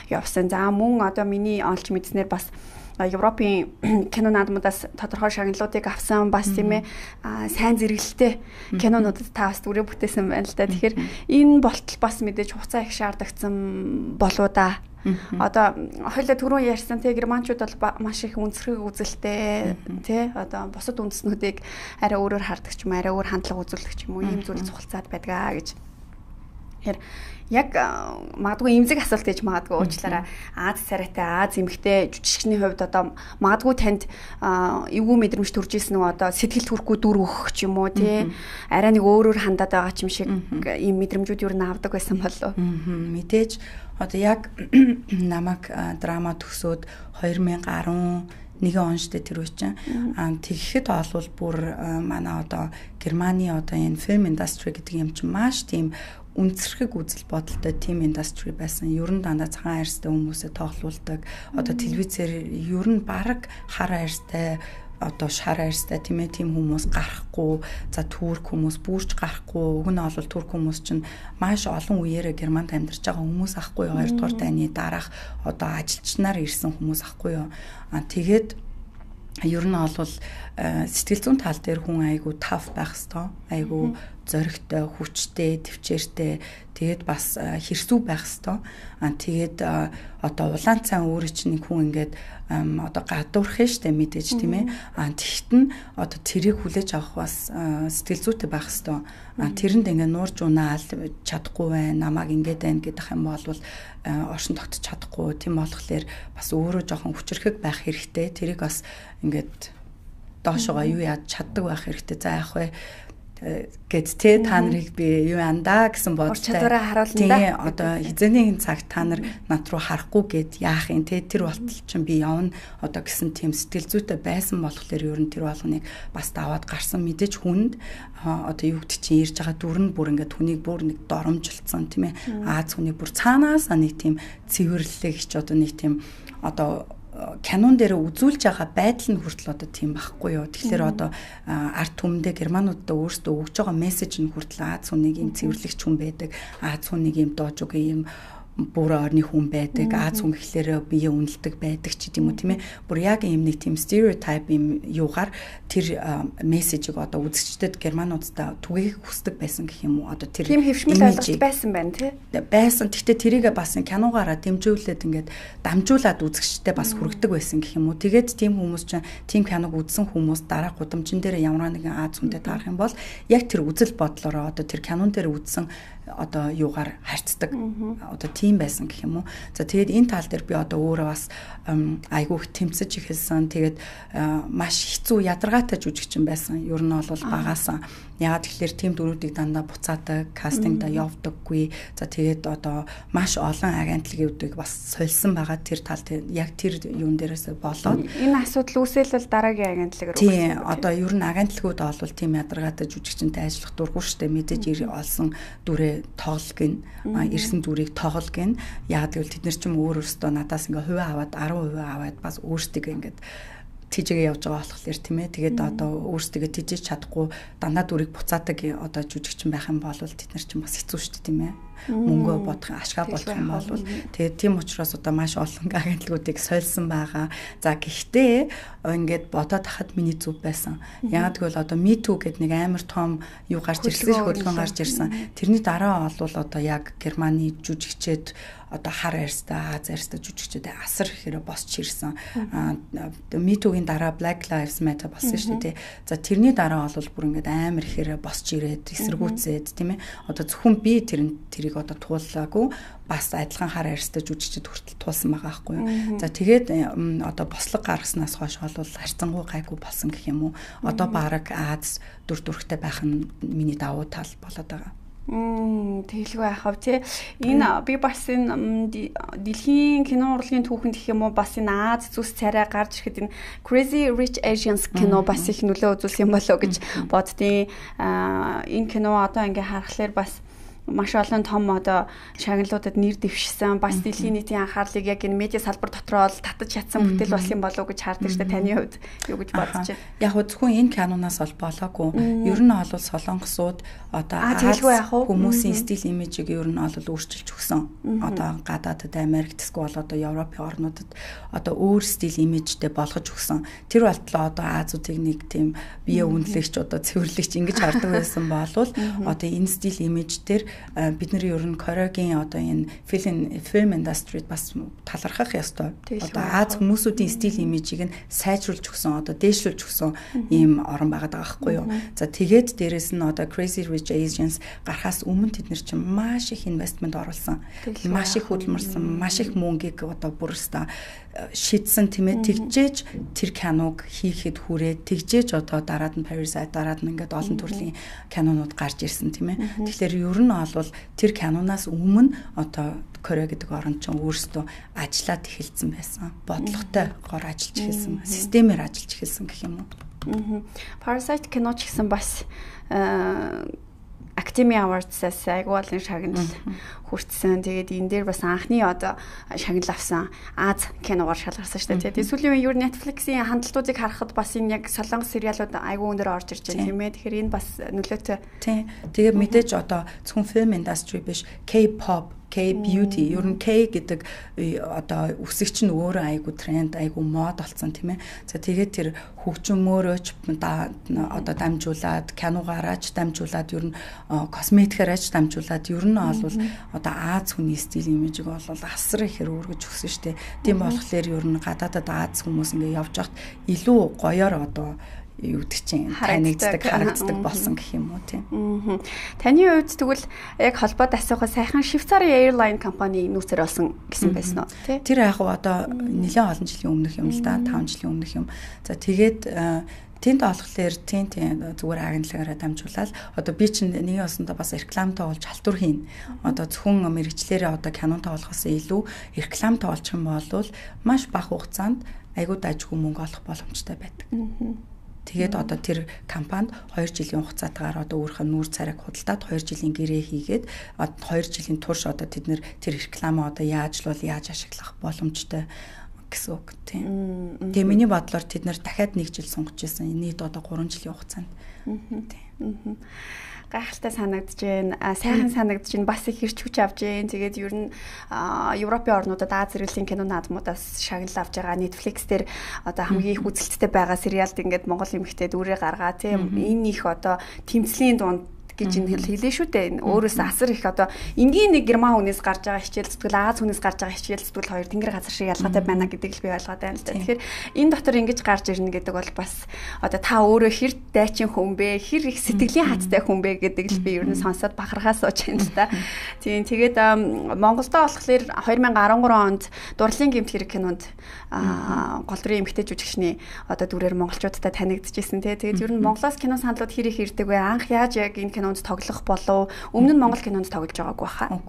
явсан. За мөн одоо миний олж мэдснээр бас Европын кино наадмуудаас тодорхой шагналуудыг авсан бас тийм ээ сайн зэрэгэлтэй кинонуудад та бас дүрээ бүтээсэн байна л да. Тэгэхээр энэ болтол бас мэдээж хугацаа их шаардагдсан болоо да. Одоо хоёлаа түрүүн ярьсан те германчууд бол маш их үнсрэг үзэлтэй те одоо бусад үндэснүүдийг арай өөрөөр хардаг ч юм арай өөр хандлага үзүүлдэг ч юм уу ийм зүйл цухалцаад байдгаа гэж. Тэгэхээр яг магадгүй эмзэг асуулт гэж магадгүй уучлаарай. Аз царайтай Аз эмэгтэй жүжигчний хувьд одоо магадгүй танд эвгүй мэдрэмж төрж ирсэн үү одоо сэтгэл төрөхгүй дүр өгөх ч юм уу тий арай нэг өөрөөр хандаад байгаа ч юм шиг ийм мэдрэмжүүд юу н авдаг байсан болов уу? Мэдээж одоо яг намайг драма төгсөөд 2011 он штэ тэр үечин тэгэхэд олвол бүр манай одоо Германы одоо энэ film industry гэдэг юм чинь маш тийм үнцэрхэг үзэл бодолтой team industry байсан. Ер нь дандаа цагаан хайрстай хүмүүсээ тоглуулдаг. Одоо телевизээр ер нь баг хар хайрстай одоо шар хайрстай тийм ээ тийм хүмүүс гарахгүй. За турк хүмүүс бүрч гарахгүй. Уг нь бол турк хүмүүс чинь маш олон үеэрээ Германд амьдарч байгаа хүмүүс ахгүй юу? 2 дугаар дайны дараах одоо ажилчнаар ирсэн хүмүүс ахгүй юу? Тэгээд ер нь бол сэтгэл зүйн тал дээр хүн айгу тав байх хэвээр айгу зоригтой, хүчтэй, төвчээртэй тэгээд бас хэрсүү байх хэвээр. Тэгээд одоо улаан цай өөрөө чинь нэг хүн ингээд одоо гадуурх штэ мэдээж тийм ээ. Тэгт нь одоо тэрийг хүлээж авах бас сэтгэл зүйтэй байх хэвээр. Тэрэнд ингээд нуурж унаал чадахгүй байна, намайг ингээд байна гэдэг юм бол оршин тогтож чадахгүй. Тийм болохоор бас өөрөө жоохон хүчрхэг байх хэрэгтэй. Тэрийг бас ингээд доошогоо юу яаж чаддаг байх хэрэгтэй. За яах вэ? Гэт та нарыг би юу андаа гэсэн бодолтой. Чадвараа харуулна да. Тийм одоо хизээний цаг та нар над руу харахгүй гэд яах юм те тэр болтол чинь би явна одоо гэсэн тийм сэтгэл зүйтэй байсан болохоор ер нь тэр болгоныг бас даваад гарсан мэдээж хүнд одоо юу гэдэг чинь ирж байгаа дүр нь бүр ингээд хүнийг бүр нэг доромжилсан тийм ээ. Аз хүнийг бүр цаанаас нэг тийм цэвэрлэгч одоо нэг тийм одоо кинон дээр үзүүлж байгаа байдал нь хүртэл одоо тийм байхгүй юу. Тэгэхээр одоо арт түмэндээ германуудаа өөрсдөө өгж байгаа мессеж нь хүртэл Аз хүнийг юм цэвэрлэгч хүн байдаг. Аз хүнийг юм доожгүй юм бүр орны хүн байдаг. Аз хүн гэхлээр бие үнэлдэг байдаг ч гэдэм үү тийм ээ. Бүр яг юм нэг тийм стереотип юм юугаар тэр мессежийг одоо үзэгчдэд германуудаа түгээх хүсдэг байсан гэх юм уу. Одоо тэр тийм хэвшмэл ойлголт байсан байна тий. Байсан. Гэхдээ тэрийг бас киногаараа дэмжүүлээд ингээд дамжуулаад үзэгчдэд бас хүргэдэг байсан гэх юм уу. Тэгээд тийм хүмүүс чинь тийм киног үзсэн хүмүүс дараа гудамжин дээр ямар нэгэн Аз хүнтэй таарах юм бол яг тэр үзэл бодлороо одоо тэр кинон дээр үзсэн одоо юугаар харьцдаг одоо тийм байсан гэх юм уу. За тэгээд энэ тал дээр би одоо өөрөө бас айгүйх тэмцэж эхэлсэн. Тэгээд маш хэцүү ядаргаатай жүжигчин байсан. Ер нь бол багаасаа яагаад тэгэхээр тийм дөрүүдийг дандаа буцаадаг, кастингда явдаггүй. За тэгээд одоо маш олон агентлагуудыг бас сольсон байгаа тэр тал яг тэр юун дээрээс болоод энэ асуудал үүсэлвэл дараагийн агентлаг руу. Тийм одоо ер нь агентлагууд бол тийм ядаргаатай жүжигчинтэй ажиллах дурггүй штэ мэдээж олсон дүрээ тоглох гин ирсэн дүрийг тоглох гин яагаад гэвэл тэд нар ч юм өөрөөсөө надаас ингээ хувиа аваад 10% аваад бас өөрсдөө ингээд тийжээ явж байгаа болохоор тийм ээ тэгээд одоо өөрсдөө тийжээж чадахгүй дандаа дүрийг буцаадаг одоо жүжигчин байх юм бол тэд нар ч бас хэцүү шүү дээ тийм ээ мөнгө бодох ашгаа болох юм бол тэгээд тийм учраас одоо маш олон агентлагуудыг сольсон байгаа. За гэхдээ ингээд бодоод хахад миний зүв байсан. Яагаад гэвэл одоо Me Too гэдэг нэг амар том юу гарч ирсэн хөдөлгөөн гарч ирсэн. Тэрний дараа бол одоо яг Германы жүжигчэд одоо хар арьстай Аз арьстай жүжигчдэд асар ихээр босч ирсэн. Me Too-гийн дараа Black Lives Matter болсон шүү дээ. За тэрний дараа бол бүр ингээд амар ихээр босч ирээд эсэргүүцээд тийм ээ. Одоо зөвхөн би тэрийг одоо туулаагүй бас адилхан хар арьстай жүжигчд хүртэл туулсан байгаа байхгүй юу. За тэгээд одоо бослог гаргаснаас хойш бол харьцангуй гайгүй болсон гэх юм уу. Одоо баг Аз дүр төрхтэй байх нь миний давуу тал болоод байгаа. Тэгэлгүй яхав тий. Энэ би бас энэ дэлхийн кино урлагийн түүхэнд гэх юм уу бас энэ Аз зүс царай гарч ирэхэд энэ Crazy Rich Asians кино бас их нөлөө үзүүлсэн юм болоо гэж боддیں۔ Энэ кино одоо ингээ харахаар бас маш олон том одоо шагналуудад нэр дэвшсэн бас дэлхийн нийтийн анхаарлыг яг энэ медиа салбар дотроо л татаж чадсан бүтээл болсон болов уу гэж хардаг шүү дээ. Таны хувьд юу гэж бодож байна? Яг зөвхөн энэ киноноос бол болоогүй. Ер нь бол солонгосууд одоо хүмүүсийн стил имижийг ер нь бол өөрчилж өгсөн. Одоо гадаадд Америкт эсвэл одоо Европын орнуудад одоо өөр стил имижтэй болгож өгсөн. Тэр болтлоо одоо Азуудыг нэг тийм бие үнэлэгч одоо цэвэрлэгч ингэж хардаг байсан болвол одоо энэ стил имиж дээр бид нар ер нь Корегийн одоо энэ film industry-д бас талархах ёстой. Одоо Аз хүмүүсүүдийн стил имижийг нь сайжруулж өгсөн, одоо дээшлүүлж өгсөн ийм орн байгаад байгаа байхгүй юу. За тэгээд дээрэс нь одоо Crazy Rich Asians гарахаас өмнө тэд нар чинь маш их инвестмент оруулсан. Маш их хөдөлмөрсөн, маш их мөнгийг одоо бүрстэ шийдсэн тийм ээ. Тэгжээж тэр киног хийхэд хүрээд тэгжээж одоо дараад нь Parasite дараад нь ингээд олон төрлийн кинонууд гарч ирсэн тийм ээ. Тэгэхээр ер нь бол тэр киноноос өмнө одоо Кore гэдэг орн чинь өөрсдөө ажиллаад эхэлсэн байсан. Бодлоготой гор ажиллаж эхэлсэн, системээр ажиллаж эхэлсэн гэх юм уу. Parasite кино ч гэсэн бас Academy Awards-аас айгүй олон шагнал хүртсэн. Тэгээд энэ дээр бас анхны одоо шагнал авсан Аз киногоор шалгарсан шүү дээ. Тэгээд сүүлийн үеийн Netflix-ийн хандлтуудыг харахад бас энэ яг солонгос сериалууд айгүй өндөр орж ирж байна тийм ээ. Тэгэхээр энэ бас нөлөөтэй. Тийм. Тэгээд мэдээж одоо зөвхөн film industry биш K-pop K-beauty. Ер нь K гэдэг одоо үсэгч нь өөрөө айгу тренд, айгу мод болсон тийм ээ. За тэгээд тэр хөгжмөөрөөч одоо дамжуулаад, киногаараач дамжуулаад, ер нь косметикаараач дамжуулаад, ер нь бол одоо Аз хүний стил имижийг бол асар ихээр өргөж өгсөн шүү дээ. Тийм болохоор ер нь гадаадад Аз хүмүүс ингээ явж хахад илүү гоёор одоо юу гэдэг чинь харагддаг болсон гэх юм уу тийм. Таны хувьд тэгвэл яг холбоод асуухаа сайхан Швейцарын Airline компани нүүцээр болсон гэсэн байсан уу тий? Тэр яг одоо нэлээд олон жилийн өмнөх юм л да, 5 жилийн өмнөх юм. За тэгээд тэнд олохлоор тийм зүгээр агентлагаараа дамжуулаад одоо би чинь нэгэн осондоо бас рекламтай болж халтур хийн. Одоо зөвхөн мэрэгчлэрээ одоо кинонтой болохоос илүү рекламтай олчих юм бол маш бага хугацаанд айгуу дайггүй мөнгө олох боломжтой байдаг. Тэгээд одоо тэр компанид 2 жилийн хугацаатаар одоо өөрийнхөө нүүр царайг худалдаад 2 жилийн гэрээ хийгээд 2 жилийн турш одоо тэд нэр тэр рекламаа одоо яаж ашиглах боломжтой гэсэн үг тийм. Тэгээ миний бодлоор тэд нэр дахиад 1 жил сунгаж ирсэн. Нийт одоо 3 жилийн хугацаанд. Тийм. Гайхалтай санагдаж байна. Сайхан санагдаж байна. Бас их хэрч хүч авж байна. Тэгээд ер нь Европын орнуудад Аз зэрэглэлийн кино наадмуудаас шагнал авж байгаа. Netflix дээр одоо хамгийн их үзэлттэй байгаа сериалд ингээд Монгол эмэгтэй дүрээ гаргаа тийм. Энэ их одоо тэмцлийн дунд гэж энэ хэлээ шүү дээ. Өөрөөс асар их одоо энгийн нэг герман хүнээс гарч байгаа хичээл зүтгэл Аз хүнээс гарч байгаа хичээл зүтгэл хоёр тэнгэр газар шиг ялгаатай байна гэдгийг л би ойлгоод байна л да. Тэгэхээр энэ дотор ингэж гарч ирнэ гэдэг бол бас одоо та өөрөө хэр дайчин хүн бэ? Хэр их сэтгэлийн хаттай хүн бэ гэдэг л би ер нь сонсоод бахархаа сууж байна л да. Тийм тэгээд Монголдо болохоор 2013 онд Дурлалын гэмт хэрэг кинонд гол дүрийн эмэгтэй жүжигчний одоо дүрээр монголчуудтай танигдчихсэн тий. Тэгээд ер нь Монголоос кино саналууд хэр их ирдэг вэ? Анх яаж яг энэ кинонд тоглох болов? Өмнө нь Монгол кинонд тоглож байгаагүй хаа.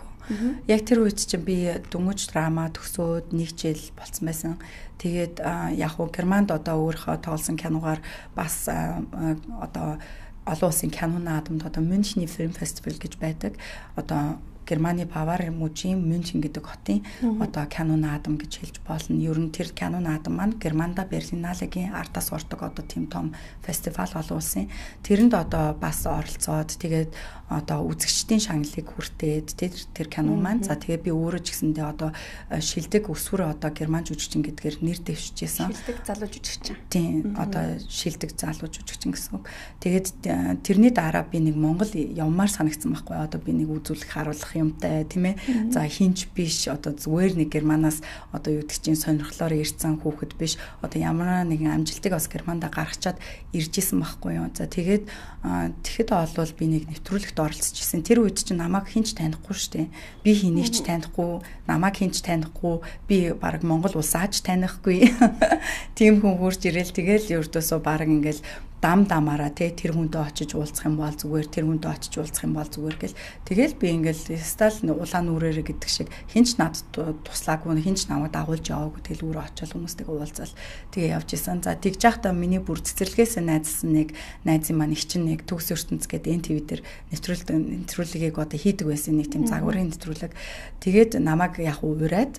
Яг тэр үед чинь би дөнгөж драма төгсөөд 1 жил болцсон байсан. Тэгээд яг уу Германд одоо өөрийнхөө тоглосон киногаар бас одоо олон улсын кино наадамд одоо Мюнхний фильм фестивал гэж байдаг. Одоо Германы Бавар мужийн Мюнхен гэдэг хотын одоо кино наадам гэж хэлж болно. Ер нь тэр кино наадам маань Германда Берлиналегийн ардаас ордог одоо тийм том фестивал олон улсын. Тэрэнд одоо бас оролцоод тэгээд одоо үзэгчдийн шагналыг хүртээд тэр кино маань за тэгээд би өөрөө ч гэсэндээ одоо шилдэг өсвөр одоо герман жүжигчин гэдгээр нэр дэвшижсэн. Шилдэг залуу жүжигчин. Тийм одоо шилдэг залуу жүжигчин гэсэн үг. Тэгээд тэрний дараа би нэг Монгол явмаар санагдсан байхгүй одоо би нэг үзүүлэх харуулах юмтай тийм ээ. За хинч биш одоо зүгээр нэг германаас одоо юу гэдэг чинь сонирхлоор ирсэн хүүхэд биш одоо ямар нэгэн амжилтыг бас германда гаргачаад ирж исэн байхгүй юу. За тэгээд тэгэхэд олвол би нэг нэвтрүүлэгт оролцож исэн. Тэр үед чинь намайг хинч танихгүй штэ. Би хэнийг ч танихгүй, намайг хинч танихгүй, би баг Монгол улсаач танихгүй. Тийм хүн хурж ирээл тэгэл ердөөсөө баг ингээл дамаараа тэр хүнтэй очиж уулзах юм бол зүгээр тэр хүнтэй очиж уулзах юм бол зүгээр гэл тэгэл би ингээл стал улаан нүрээрээ гэдэг шиг хинч над туслаагүй хинч намайг дагуулж яваагүй тэгэл өөрөө очиод хүмүүстэйгээ уулзал тэгээ явж исэн. За тэгж яхтаа миний бүр цэцэрлэгээс найзсан нэг найзын маань их чинь нэг төгс ертөнц гэдэг НТВ дээр нэвтрүүлгийг одоо хийдэг байсан нэг тийм загварын нэвтрүүлэг. Тэгээд намайг яг ураад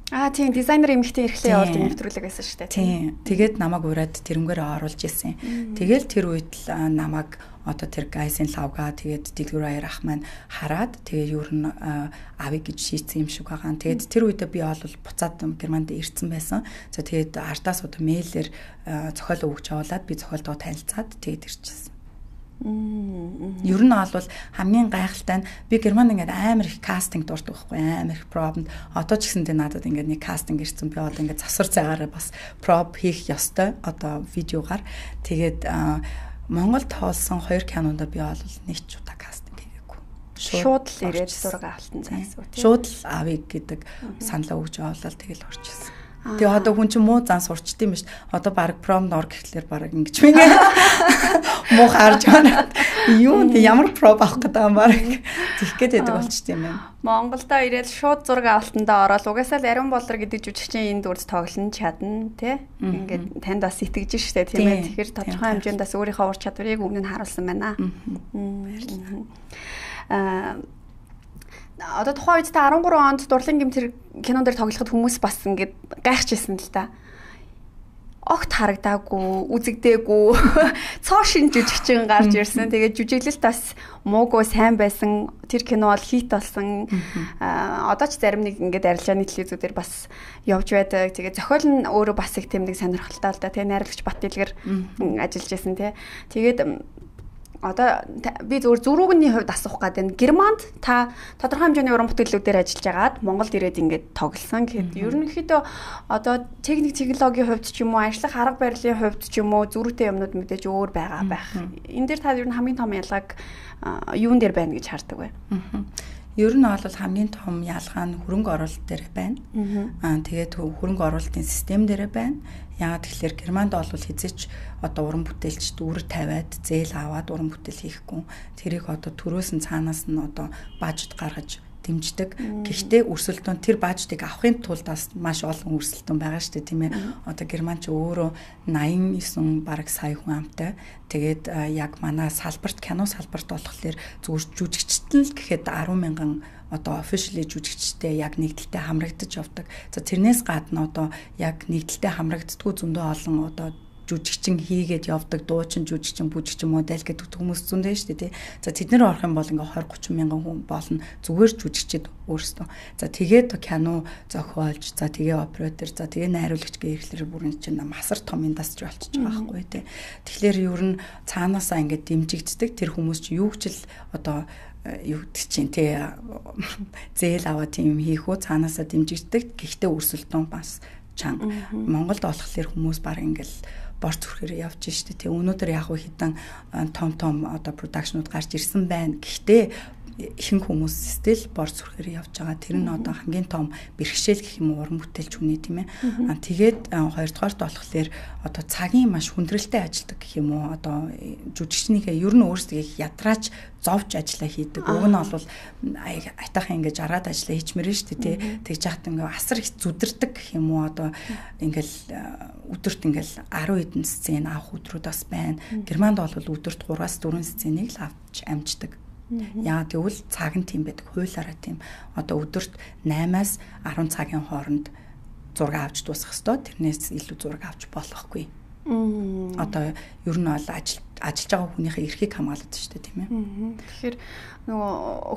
тийм дизайнер эмэгтэй эрхлээ явуулдаг нэвтрүүлэг байсан шүү дээ. Тийм. Тэгээд намайг ураад тэрнгээрээ оруулж исэн. Тэгэл тэр үед л намайг одоо тэр гайсын лавга тэгээд дэлгүүр аяр ах маань хараад тэгээд юу н авъя гэж шийдсэн юм шиг байгаа. Тэгээд тэр үедээ би бол буцаад Германд ирсэн байсан. За тэгээд ардаас одоо мэйлээр зохиол өгч явуулаад би зохиолтоо танилцаад тэгээд ирчихсэн. Ер нь бол хамгийн гайхалтай нь би Германд ингээд амар их кастинг дуртай байхгүй амар их пробд одоо ч гэсэндээ надад ингээд нэг кастинг ирсэн би одоо ингээд завсар цагаараа бас проб хийх ёстой одоо видеогаар тэгээд Монголд тоолсон 2 кинонд би бол нэг ч удаа кастинг хийгээгүй. Шууд л ирээд зураг авалтан зайсуу тийм. Шууд л авъя гэдэг саналаа өгж явуулаад тэгэл орчихсон. Тэгээ одоо хүн чинь муу зан сурчт юм биш. Одоо баг промд ор гэхлээр баг ингэж мэнгээ муу харж байна. Юу ямар проб авах гэдэг юм баг. Тэгэх гээд байдаг болчт юм байна. Монголдо ирээд шууд зураг авалтандаа ороод угаасаа л Ариун Болор гэдэг жүжигчин энэ дүрд тоглоно чадна тий. Ингээд танд бас итгэж штэ тийм ээ. Тэгэхээр тодорхой хэмжээнд бас өөрийнхөө ур чадварыг өмнө нь харуулсан байна. Одоо тухайн үед та 13 онд Дурлалын гэмт кинон дээр тоглоход хүмүүс бас ингээд гайхажсэн л да. огт харагдаагүй, үзэгдээгүй цоо шин жүжигчин гарч ирсэн. Тэгээд жүжиглэлт бас муугүй сайн байсан. Тэр кино бол хит болсон. Одоо ч зарим нэг ингээд арилжааны телевизүүдээр бас явж байдаг. Тэгээд зохиол нь өөрөө бас их тийм нэг сонирхолтой л да. Тэгээд найруулагч Бат Дэлгэр ажиллаж байсан тий. Тэгээд одоо би зөвхөн зуруугны хувьд асуух гэдэг нь Германд та тодорхой хэмжээний уран бүтээлүүдээр ажиллаж агаад Монголд ирээд ингээд тоглосон. Гэхэд ерөнхийдөө одоо техник технологийн хувьд ч юм уу, ажлах арга барилын хувьд ч юм уу зөрүүтэй юмнууд мэдээж өөр байгаа байх. Энэ дээр та ер нь хамгийн том ялгааг юун дээр байна гэж хардаг вэ? Ер нь бол хамгийн том ялгаа нь хөрөнгө оруулалт дээр байна. Тэгээд хөрөнгө оруулалтын систем дээр байна. Яагаад тэгэхээр Германд бол хязгаарч одоо уран бүтээлчд үр тавиад зээл аваад уран бүтээл хийхгүй. Тэрийг одоо төрөөс нь цаанаас нь одоо бажет гаргаж дэмждэг. Гэхдээ өрсөлдөөн тэр бажтыг авахын тулд бас маш олон өрсөлдөөн байгаа шүү дээ, тийм ээ. Одоо Герман ч өөрөө 89 бараг сая хүн амтай. Тэгээд яг манай салбарт, кино салбарт болохоор зүгээр жүжигчтэн л гэхэд 10,000 одоо officially жүжигчтэй яг нэгдэлтэй хамрагдаж явдаг. За тэрнээс гадна одоо яг нэгдэлтэй хамрагддаггүй зөндөө олон одоо жүжигчин хийгээд явдаг, дуучин, жүжигчин, бүжигчин, модель гэдэг хүмүүс зөндөө шүү дээ тий. За тэд нэр орох юм бол ингээ 20-30 мянган хүн болно. Зүгээр жүжигчид өөрсдөө. За тэгээд кино зохиолж, за тэгээ оператор, за тэгээ найруулагч гэх ирэхлээр бүрэн чинь масар том индастри болчихж байгаа байхгүй тий. Тэгэхээр ер нь цаанаасаа ингээ дэмжигддэг тэр хүмүүс чи юу ч л одоо юу гэдэг чинь тий зээл аваа тийм хийх үү цаанаасаа дэмжигддэг. Гэхдээ өрсөлдөөн бас чанга. Монголд болохоор хүмүүс баг ингээл борц хүрхээр явж штэ тий. Өнөөдөр яг хэдэн том одоо продакшнууд гарч ирсэн байна. Гэхдээ ихэнх хүмүүс стил борц хүрхээр явж байгаа. Тэр нь одоо хамгийн том бэрхшээл гэх юм уу уран бүтээлч хүний тийм ээ. Тэгээд хоёрдугаарт болохоор одоо цагийн маш хүндрэлтэй ажилдаг гэх юм уу одоо жүжигчнийхээ ер нь өөрсдөө ядрааж зовж ажиллаа хийдэг. Уг нь бол айтайхан ингэж араад ажиллаа хийчмээр нь шүү дээ тий. Тэгж яхад ингээ асар их зүдэрдэг гэх юм уу одоо ингээл өдөрт ингээл 10 хэдэн сцен авах өдрүүд бас байна. Германд бол өдөрт 3-4 сценийг л авч амждаг. Яа тэгвэл цаг нь тийм байдаг. Хуулаараа тийм. Одоо өдөрт 8-аас 10 цагийн хооронд зураг авч дуусгах ёстой. Тэрнээс илүү зураг авч болохгүй. Одоо ер нь бол ажиллаж байгаа хүнийхээ эрхийг хамгаалдаг шүү дээ тийм ээ. Тэгэхээр нөгөө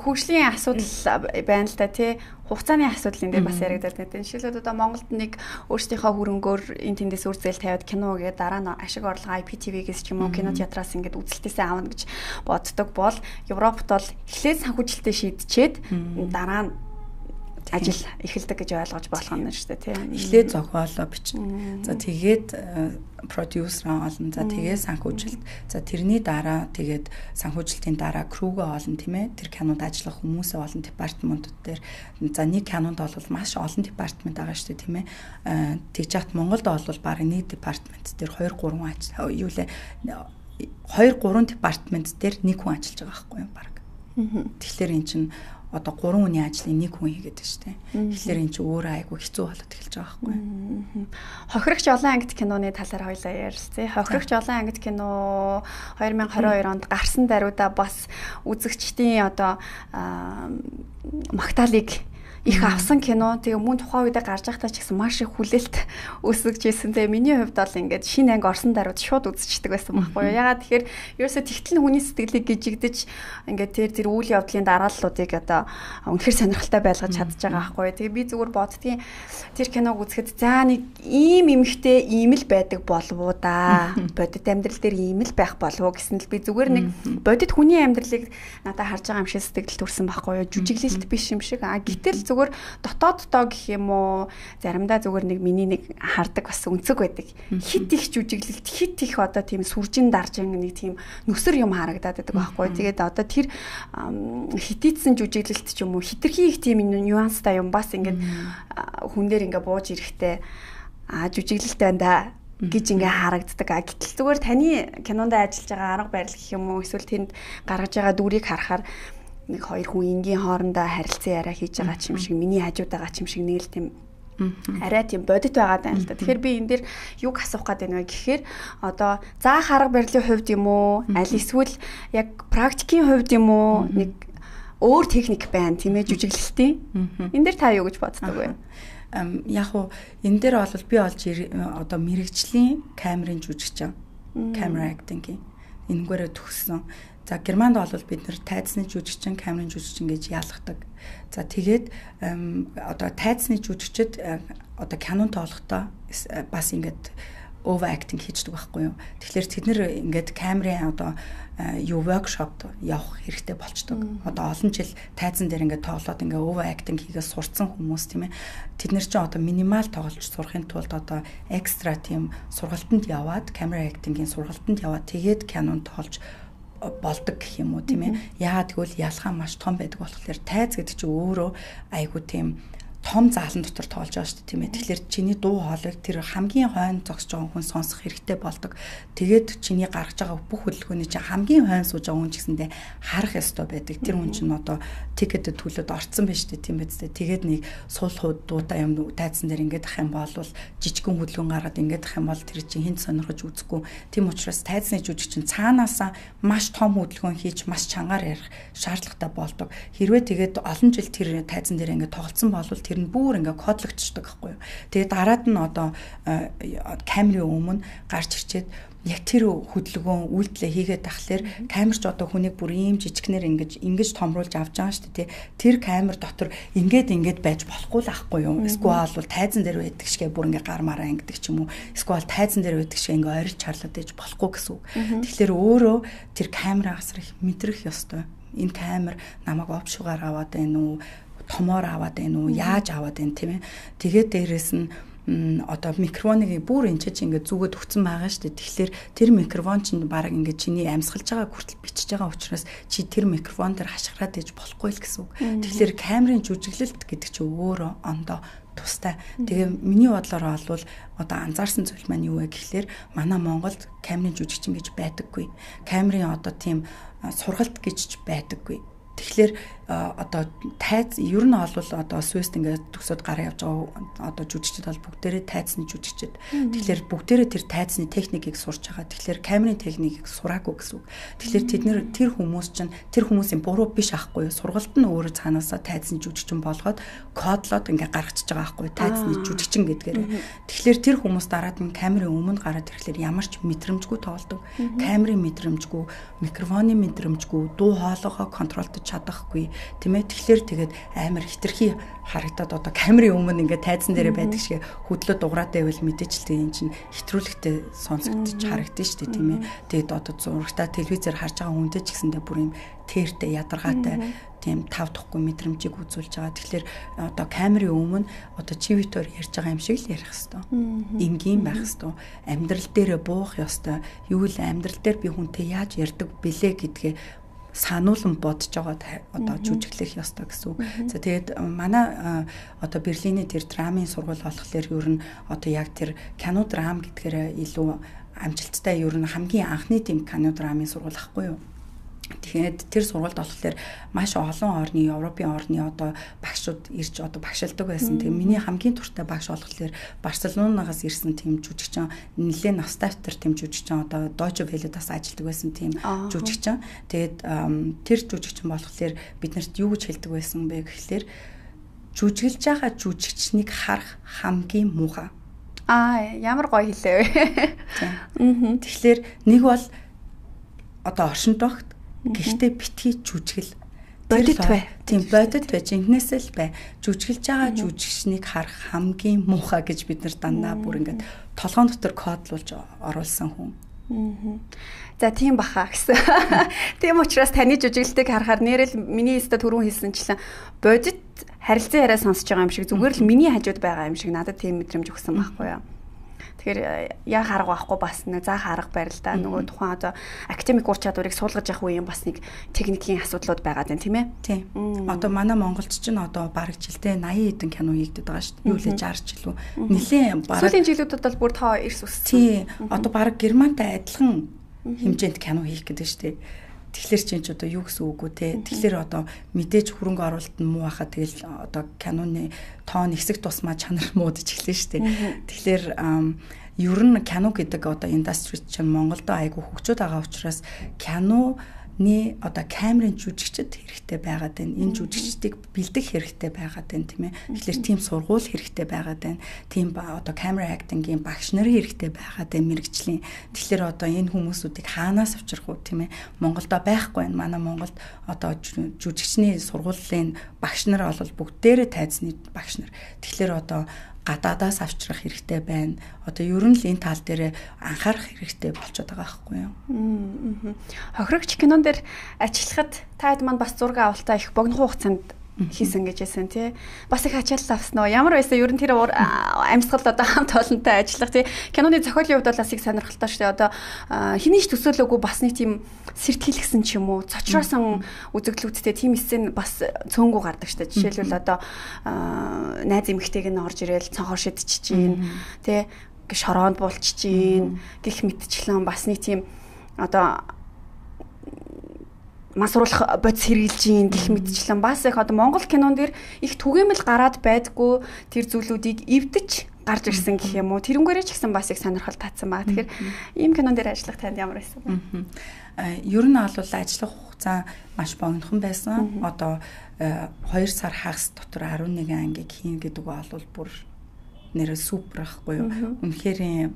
хөгжлийн асуудал байна л да тий. Хугацааны асуудал энэ дээр бас яригдаад байна. Жишээлбэл одоо Монголд нэг өөрсдийнхөө хөрөнгөөр энэ тэндээс үр зээл тавиад кино гээд дараа нь ашиг орлого IPTV-гээс ч юм уу кино театраас ингээд үзэлтээсээ аавна гэж боддог бол Европт бол эхлээд санхүүжилтээ шийдчихэд дараа нь ажил эхэлдэг гэж ойлгож болох юм шүү дээ тийм. Эхлээд зохиолоо бичнэ. За тэгээд продюсер олно. За тэгээд санхүүжилт. За тэрний дараа тэгээд санхүүжилтийн дараа крүүгээ олно тийм ээ. Тэр кинонд ажиллах хүмүүсээ олон департаментууд дээр. За нэг кинонд бол маш олон департамент байгаа шүү дээ тийм ээ. Тэгж яхад Монголд бол бараг нэг департамент дээр 2-3 юу лээ 2-3 департамент дээр нэг хүн ажиллаж байгаа байхгүй юм бараг. Тэгэхээр эн чинь одоо 3 хүний ажлыг нэг хүн хийгээд байна шүү дээ. Тэгэхээр эн чинь өөрөө айгүй хэцүү болоод эхэлж байгаа байхгүй. Хохирогч олон ангит киноны талаар хоёлаа ярилцъя. Хохирогч олон ангит кино 2022 онд гарсан даруйда бас үзэгчдийн одоо магтаалыг их авсан кино. Тэгээ мөн тухайн үедээ гарч байхдаа ч гэсэн маш их хүлээлт өсөж ирсэн. Тэгээ миний хувьд бол ингээд шинэ анги орсон даруйд шууд үзчихдэг байсан байхгүй юу. Ягаад тэгэхээр ерөөсө тэгтэл хүний сэтгэлийг гжигдэж ингээд тэр үйл явдлын дарааллуудыг одоо үнэхээр сонирхолтой байлгаж чадж байгаа байхгүй юу. Тэгээ би зүгээр боддгийн тэр киног үзэхэд за нэг ийм эмхтэй ийм л байдаг болов уу да. Бодит амьдрал дээр ийм л байх болов уу гэсэн л би зүгээр нэг бодит хүний амьдралыг надад харж байгаа юм шиг сэтгэл төрсэн байхгүй юу. Жүжиглэлт биш юм шиг. Гэтэл зүгээр дотооддоо гэх юм уу заримдаа зүгээр нэг миний нэг хардаг бас өнцөг байдаг. Хит их жүжиглэлт хит их одоо тийм сүржин даржин нэг тийм нүсэр юм харагдаад байдаг байхгүй. Тэгээд одоо тэр хитийдсэн жүжиглэлт ч юм уу хитрхи их тийм нюанстай юм бас ингээд хүн дээр ингээ бууж ирэхтэй жүжиглэлт байна да гэж ингээ харагддаг. Гэтэл зүгээр таны кинонд ажиллаж байгаа арга барил гэх юм уу эсвэл тэнд гаргаж байгаа дүрийг харахаар нэг хоёр хүн энгийн хоорондоо харилцан яриа хийж байгаа ч юм шиг миний хажууд байгаа ч юм шиг нэг л тийм арай тийм бодит байгаа даа л да. Тэгэхээр би энэ дэр юг асуух гээд байна вэ гэхээр одоо заах арга барилын хувьд юм уу аль эсвэл яг практикийн хувьд юм уу нэг өөр техник байна тийм ээ жүжиглэлтийн. Энэ дэр та юу гэж боддог вэ? яг уу энэ дээр бол би олж одоо мэрэгжлийн камерын жүжигчин camera acting-ийн энэгээрээ төгссөн. За Германд бол бид нэр тайцны жүжигчин, камерын жүжигчин гэж яалгадаг. За тэгээд одоо тайцны жүжигчид одоо кинон тоолохдоо бас ингээд over acting хийдэг байхгүй юу. Тэгэхээр тэд нэр ингээд камерын одоо workshop явах хэрэгтэй болчдөг. Одоо олон жил тайзан дээр ингээд тоглоод ингээд over acting хийгээ сурцсан хүмүүс тийм ээ. Тэд нэр чинь одоо минимал тоглож сурахын тулд одоо экстра тийм сургалтанд яваад camera acting-ийн сургалтанд яваад тэгээд кинон тоолж болдог гэх юм уу тийм ээ. Яагаад гэвэл ялгаа маш том байдаг болохоор тайз гэдэг чинь өөрөө айгу тийм том заалан дотор тоолж байгаа шүү дээ тийм ээ. Тэгэхээр чиний дуу хоолойг тэр хамгийн хойно зогсож байгаа хүн сонсох хэрэгтэй болдог. Тэгээд чиний гаргаж байгаа бүх хөдөлгөөний чинь хамгийн хойно сууж байгаа хүн ч гэсэндээ харах ёстой байдаг. Тэр хүн чинь одоо тикетэд төлөд орцсон байж тээ тийм биз дээ. Тэгээд нэг суулхууд дуутай юм тайзан дээр ингээд ах юм бол жижигхэн хөдөлгөөн гаргаад ингээд ах юм бол тэр чинь хинт сонирхож үзэхгүй. Тийм учраас тайзны жүжигчин цаанаасаа маш том хөдөлгөөн хийж маш чангаар ярих шаардлагатай болдог. Хэрвээ тэгээд олон жил тэр тайзан дээр ингээд тоглосон бол тэр нь бүр ингээ кодлогдчихдаг байхгүй юу. Тэгээд дараад нь одоо камерын өмнө гарч ирчээд яг тэр хөдөлгөөн үйлдэлээ хийгээд тахлаар камерч одоо хүнийг бүр ийм жижигнэр ингэж томруулж авч байгаа шүү дээ. Тэр камер дотор ингээд байж болохгүй л ахгүй юу. Эсвэл бол тайзан дээр байдаг шигээ бүр ингээ гар мараа ингэдэг ч юм уу. Эсвэл тайзан дээр байдаг шигээ ингээ ойрч чарлаад ээж болохгүй гэсэн үг. Тэгэхээр өөрөө тэр камераагаас их мэдрэх ёстой. Энэ камер намайг овшуугаар аваад байна уу? Томоор аваад байна уу? Яаж аваад байна тийм ээ. Тэгээд дээрэс нь одоо микрофоныг бүр энэ чинь ингээд зүгээд өгсөн байгаа шүү дээ. Тэгэхээр тэр микрофон чинь баг ингээд чиний амьсгалж байгаа хүртэл бичиж байгаа учраас чи тэр микрофон дээр хашгираад ээж болохгүй л гэсэн үг. Тэгэхээр камерын жүжиглэлт гэдэг чинь өөрөө ондоо тустай. Тэгээ миний бодлоор бол одоо анзаарсан зүйл маань юу вэ гэхлээр манай Монголд камерын жүжигчин гэж байдаггүй. Камерын одоо тийм сургалт гэж байдаггүй. Тэгэхээр одоо тайз ер нь бол одоо Свист ингээд төгсөөд гараа явж байгаа одоо жүжигчид бол бүгдээрээ тайзны жүжигчид. Тэгэхээр бүгдээрээ тэр тайзны техникийг сурч байгаа. Тэгэхээр камерын техникийг сураагүй гэсэн үг. Тэгэхээр тэд нэр тэр хүмүүс чинь тэр хүмүүсийн буруу биш аахгүй юу? Сургалт нь өөрөө цаанаасаа тайзны жүжигчин болгоод кодлоод ингээд гаргачихж байгаа аахгүй юу? Тайзны жүжигчин гэдгээр. Тэгэхээр тэр хүмүүс дараад нь камерын өмнө гараад ирэхлээр ямар ч мэдрэмжгүй тоглодог. Камерын мэдрэмжгүй, микрофоны мэдрэмжгүй, дуу хоолойгоо контролдож чадахгүй тийм ээ. Тэгэхээр тэгээд амар хитрхи харагдаад одоо камерын өмнө ингээд тайзан дээр байдаг шиг хөдлөө дуграатай байвал мэдээж л тийм чинь хэтрүүлэгтэй сонсогдож харагдаж штэ тийм ээ. Тэгээд одоо зурагтаа телевизээр харж байгаа хүнтэй ч гэсэндээ бүр юм тэртэй ядаргаатай тийм тав тухгүй мэдрэмжийг үзүүлж байгаа. Тэгэхээр одоо камерын өмнө одоо чивитээр ярьж байгаа юм шиг л ярих хэвээр. Энгийн байх хэвээр. Амьдрал дээрээ буух ёстой. Юу л амьдрал дээр би хүнтэй яаж ярьдаг бэлээ гэдгээ сануулсан бодож байгаа одоо жүжиглэх ёстой гэсэн үг. За тэгээд манай одоо Берлиний тэр драмын сургууль болохоор ер нь одоо яг тэр кино драм гэдгээр илүү амжилттай ер нь хамгийн анхны тийм кино драмын сургууль ахгүй юу. Тэгэхээр тэр сургуульд болохоор маш олон орны Европын орны одоо багшууд ирж одоо багшилдаг байсан. Тэгээ миний хамгийн туртай багш болохоор Барселонагаас ирсэн тийм жүжигчин нэлээд настайфтер тийм жүжигчин одоо Deutsche Welle-даас ажилладаг байсан тийм жүжигчин. Тэгээд тэр жүжигчин болохоор биднэрт юу гэж хэлдэг байсан бэ гэхлээр жүжиглж байгаа жүжигчнийг харах хамгийн муухай. Ямар гоё хэлээ. Тэгэхээр нэг бол одоо оршинт багт гэхдээ битгий жүжигл бодит бай. Тийм бодит бай. Жинхнээсээ л бай. Жүжиглж байгаа жүжигчнийг харах хамгийн муухай гэж бид нар дандаа бүр ингээд толгоон дотор кодлуулж оруулсан хүн. За тийм баха гэсэн. Тийм учраас таны жүжиглэлтийг харахаар нэрэл миний өстө түрүүн хэлсэнчлэн бодит харилцан яриа сонсож байгаа юм шиг зүгээр л миний хажууд байгаа юм шиг надад тийм мэдрэмж өгсөн байхгүй юу? Тэгэхээр яг харга байхгүй бас нэг заах арга барил да. Нөгөө тухайн одоо академик ур чадварыг суулгаж явах үеийн бас нэг техникийн асуудлууд байгаа даа тийм ээ. Тийм. Одоо манай монголч чинь одоо бараг жилдээ 80 хэдэн кино хийгдэт байгаа шүү дээ. Юу лээ 60 жилүү. Нилээн бараг сүүлийн жилүүдэд бол бүр тоо эрс өссөн. Тийм. Одоо бараг Германтай адилхан хэмжээнд кино хийх гэдэг шүү дээ. Тэгэхээр чинь ч одоо юу гэсэн үг үү те. Тэгэхээр одоо мэдээж хөрөнгө оруулалт нь муу хахад тэгэл одоо киноны тоон хэсэг тусмаа чанар муудаж эхлэн штэ. Тэгэхээр ер нь кино гэдэг одоо индастри чинь Монголд айгүй хөгжөөд байгаа учраас кино Ни одоо камерын жүжигчд хэрэгтэй байгаад байна. Энэ жүжигчдийг бэлдэх хэрэгтэй байгаад байна тийм ээ. Тэгэхээр тийм сургууль хэрэгтэй байгаад байна. Тийм одоо камера актингийн багш нар хэрэгтэй байгаад байна мэрэгжлийн. Тэгэхээр одоо энэ хүмүүсүүдийг хаанаас авчрах уу тийм ээ. Монголдо байхгүй байна. Манай Монголд одоо жүжигчний сургуулийн багш нар бол бүгдээрээ тайзны багш нар. Тэгэхээр одоо гадаадаас авчрах хэрэгтэй байна. Одоо ер нь л энэ тал дээр анхаарах хэрэгтэй болчиход байгаа байхгүй юу? Хохирогч кинон дээр ажиллахад та хэд маань бас зураг авалтаа их богино хугацаанд хийсэн гэж хэлсэн тий. Бас их ачаалал авсан уу? Ямар байсан ер нь тэр амьсгал одоо хамт олонтой ажиллах тий. Киноны зохиолын хувьд бол бас их сонирхолтой шүү дээ. Одоо хэний ч төсөөлөөгүй бас нэг тийм сэртхийлгсэн ч юм уу, цочроосон үзэгдлүүдтэй тийм эссэн бас цөөнгүү гардаг шүү дээ. Жишээлбэл одоо найз эмэгтэйг нь орж ирээл цонхоор шидчихэж гин тий. Шороонд булчиж гин гих мэтчлэн бас нэг тийм одоо масруулах бодис хэрэгжилж ийн гэх мэтчлэн бас их одоо Монгол кинон дэр их түгээмэл гараад байдгүй тэр зүйлүүдийг эвдэж гарч ирсэн гэх юм уу. Тэрнгээрээ ч гэсэн бас их сонирхол татсан баг. Тэгэхээр ийм кинон дээр ажиллах танд ямар байсан бэ? Ер нь бол ажиллах хугацаа маш богинохон байсан. Одоо 2 сар хагас дотор 11 ангийг хийн гэдэг бол бүр нэрээ супер ахгүй юу. Үнэхээр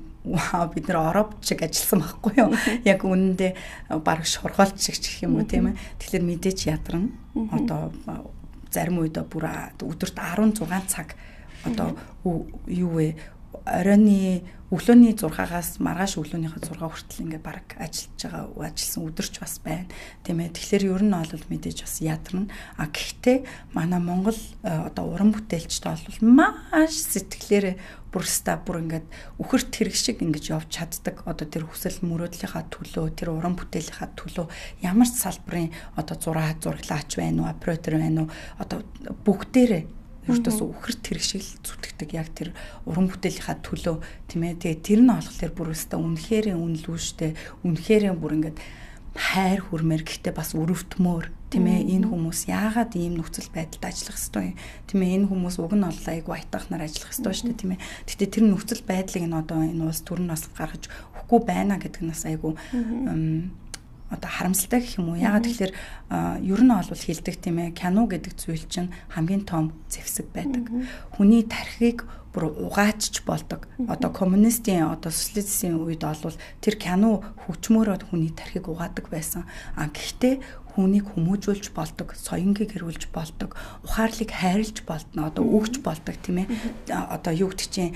бид нэр Ороб шиг ажилласан байхгүй юу. Яг үнэндээ баг шургаалт шиг гэх юм уу тийм ээ. Тэгэхээр мэдээч ядарна. Одоо зарим үед бүр өдөрт 16 цаг одоо юу вэ? Оройны өглөөний 6-аас маргааш өглөөнийхөө 6 хүртэл ингээд баг ажилласан өдөрч бас байна. Тийм ээ. Тэгэхээр ер нь бол мэдээж бас ядарна. Гэхдээ манай Монгол одоо уран бүтээлчтэй бол маш сэтгэлээрээ бүр ингээд үхэрт хэрэг шиг ингэж явж чаддаг. Одоо тэр хүсэл мөрөөдлийнхаа төлөө, тэр уран бүтээлийнхаа төлөө ямар ч салбарын одоо зураглаач байна уу, оператор байна уу, одоо бүгдээрээ өөртөөс үхэрт хэрэг шиг зүтгэдэг яг тэр уран бүтээлийнхаа төлөө тийм ээ. Тэгээ тэр нь болохоор бүр өстой үнэхээр үнэлүүштэй, үнэхээр бүр ингээд хайр хүрмээр гэхдээ бас өрөвтмөр тийм ээ. Энэ хүмүүс яагаад ийм нөхцөл байдалд ажиллах ёстой юм? Тийм ээ. Энэ хүмүүс уг нь бол айгу айтахнаар ажиллах ёстой шүү дээ тийм ээ. Гэхдээ тэр нөхцөл байдлыг нь одоо энэ улс төр нь бас гаргаж өгөхгүй байна гэдэг нь бас айгу одоо харамсалтай гэх юм уу. Ягаад тэгэхээр ер нь бол хэлдэг тийм ээ. Кино гэдэг зүйл чинь хамгийн том зэвсэг байдаг. Хүний тархийг бүр угаачч болдог. Одоо коммунистийн одоо социализмын үед бол тэр кино хөгжмөөрөө хүний тархийг угаадаг байсан. Гэхдээ хүнийг хүмүүжүүлж болдог, соёнгийг хэрүүлж болдог, ухаарлыг хайрлж болдно, одоо өгч болдог тийм ээ. Одоо юу гэдэг чинь